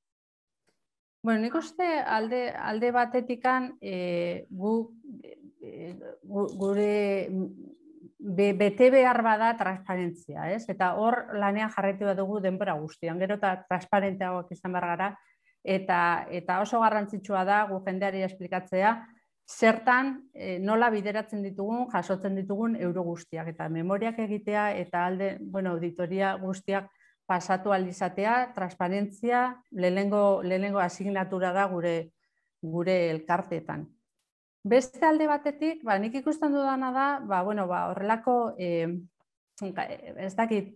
Bueno, nik uste alde, alde batetikan e, gu, e, gure be, bete behar bada transparentzia, ez? Eta hor lanean jarraitu bat dugu denbora guztian, gero eta transparenteagoak izan behar gara, eta, eta oso garrantzitsua da gu jendeari esplikatzea, zertan e, nola bideratzen ditugun, jasotzen ditugun euro guztiak, eta memoriak egitea, eta alde, bueno, auditoria guztiak pasatu alizatea, transparentzia, lehenengo, lehenengo asignatura da gure, gure elkarteetan. Beste alde batetik, ba, nik ikusten dudana da, ba, bueno, ba, horrelako, eh, ez dakit,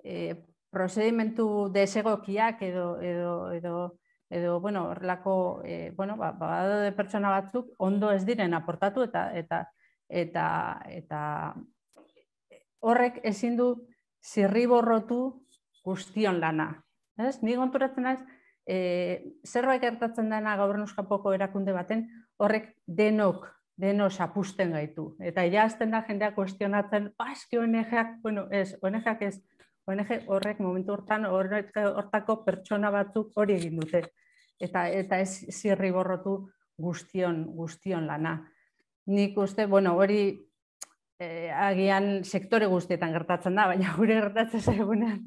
eh, prozedimentu desegokiak edo, edo, edo, edo bueno, horrelako, eh, bueno, ba, ba, pertsona batzuk ondo ez diren aportatu eta, eta, eta, eta horrek ezin du zirriborrotu guztion lana. Ez? Ni konturatzen naiz, e, zerbait gertatzen dena gobernuz kanpoko erakunde baten, horrek denok deno zapusten gaitu. Eta ja azten da jendeak kuestionatzen, ba, eski O N G-ak, bueno, ez, O N G-ak ez, O N G horrek momentu hortan hortako pertsona batzuk hori egin dute. Eta eta ez zirri borrotu guztion, guztion lana. Nik uste, bueno, hori eh, agian sektore guztietan gertatzen da, baina gure gertatzen zaigunean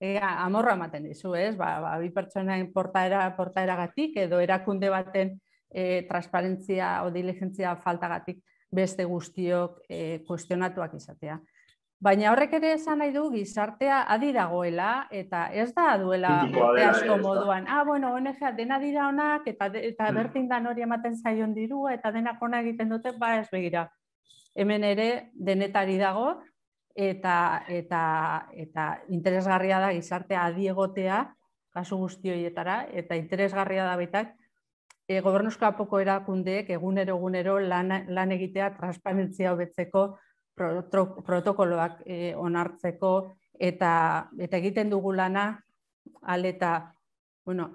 eh, amorra ematen dizu, ez? Ba, ba, bi pertsonaen portaera, portaeragatik edo erakunde baten eh, transparentzia o diligentzia faltagatik beste guztiok eh, kuestionatuak izatea. Baina horrek ere esan nahi du gizartea adi dagoela eta ez da duela urte asko moduan. Ah, bueno, O N G dena dira onak eta, eta bertin dan hori ematen zaion dirua eta denak ona egiten dute, ba ez begira. Hemen ere denetari dago eta, eta, eta interesgarria da gizartea adi egotea kasu guzti horietara eta interesgarria da baitak e, gobernuzko apoko erakundeek egunero egunero lan, lan egitea transparentzia hobetzeko protokoloak eh, onartzeko eta, eta egiten dugu lana aleta, bueno,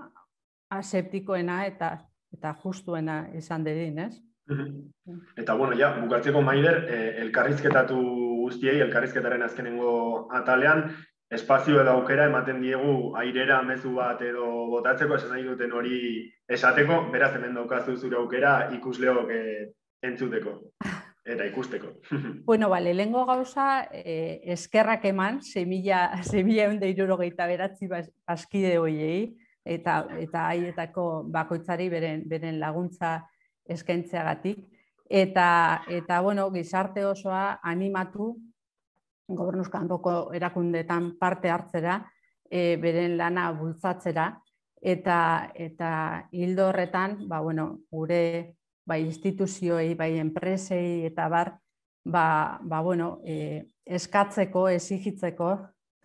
aseptikoena eta, eta justuena izan dedin, ez? Eta, bueno, ja, bukatzeko Maider, eh, elkarrizketatu guztiei, elkarrizketaren azkenengo atalean, espazio edo aukera ematen diegu airera mezu bat edo botatzeko, esan nahi duten hori esateko, beraz hemen daukazu zure aukera ikusleok eh, entzuteko. Eta ikusteko. Bueno, bale, lehengo gauza, eh, eskerrak eman, semilla eunde hirurogeita beratzi baskide hoiei, eta eta haietako bakoitzari beren, beren laguntza eskaintzeagatik. Eta, eta, bueno, gizarte osoa animatu, gobernuz kanpoko erakundeetan parte hartzera, eh, beren lana bultzatzera, eta, eta hildo horretan, ba, bueno, gure bai instituzioei, bai enpresei eta bar, ba, ba bueno, eh, eskatzeko, exigitzeko,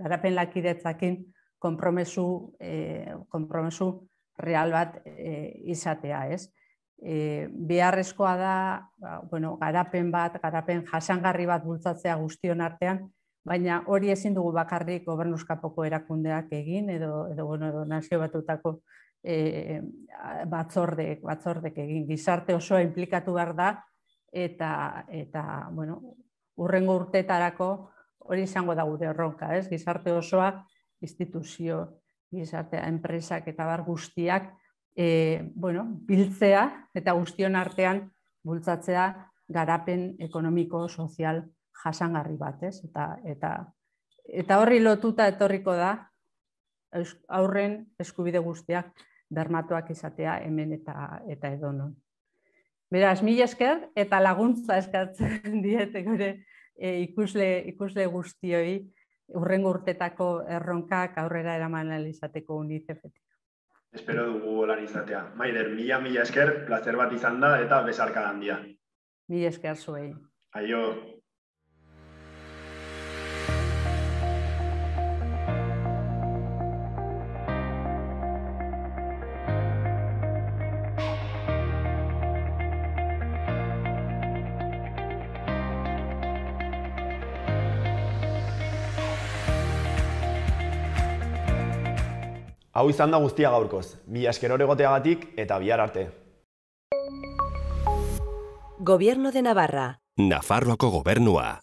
garapen lakidetzakin konpromesu, eh, konpromesu real bat eh, izatea, ez? Eh, beharrezkoa da, ba, bueno, garapen bat, garapen jasangarri bat bultzatzea guztion artean, baina hori ezin dugu bakarrik gobernuzkapoko erakundeak egin, edo, edo, bueno, edo nazio batutako E, batzordek, batzordek egin, gizarte osoa inplikatu behar da eta, eta bueno, urrengo urteetarako hori izango da gure erronka, ez? Gizarte osoa, instituzio, gizartea, enpresak eta bar guztiak e, bueno, biltzea eta guztion artean bultzatzea garapen ekonomiko, sozial, jasangarri bat, ez? Eta, eta, eta horri lotuta etorriko da aurren eskubide guztiak bermatuak izatea hemen eta, eta edonon. Beraz, mila esker eta laguntza eskatzen diete gure e, ikusle, ikusle guztioi urrengo urtetako erronkak aurrera eraman izateko UNICEFetik. Espero dugu lan izatea. Maider, mila mila esker, plazer bat izan da eta besarka handia. Mila esker zuei. Aio. Hau izan da guztia gaurkoz, mila esker egoteagatik eta bihar arte. Gobierno de Navarra. Nafarroako gobernua.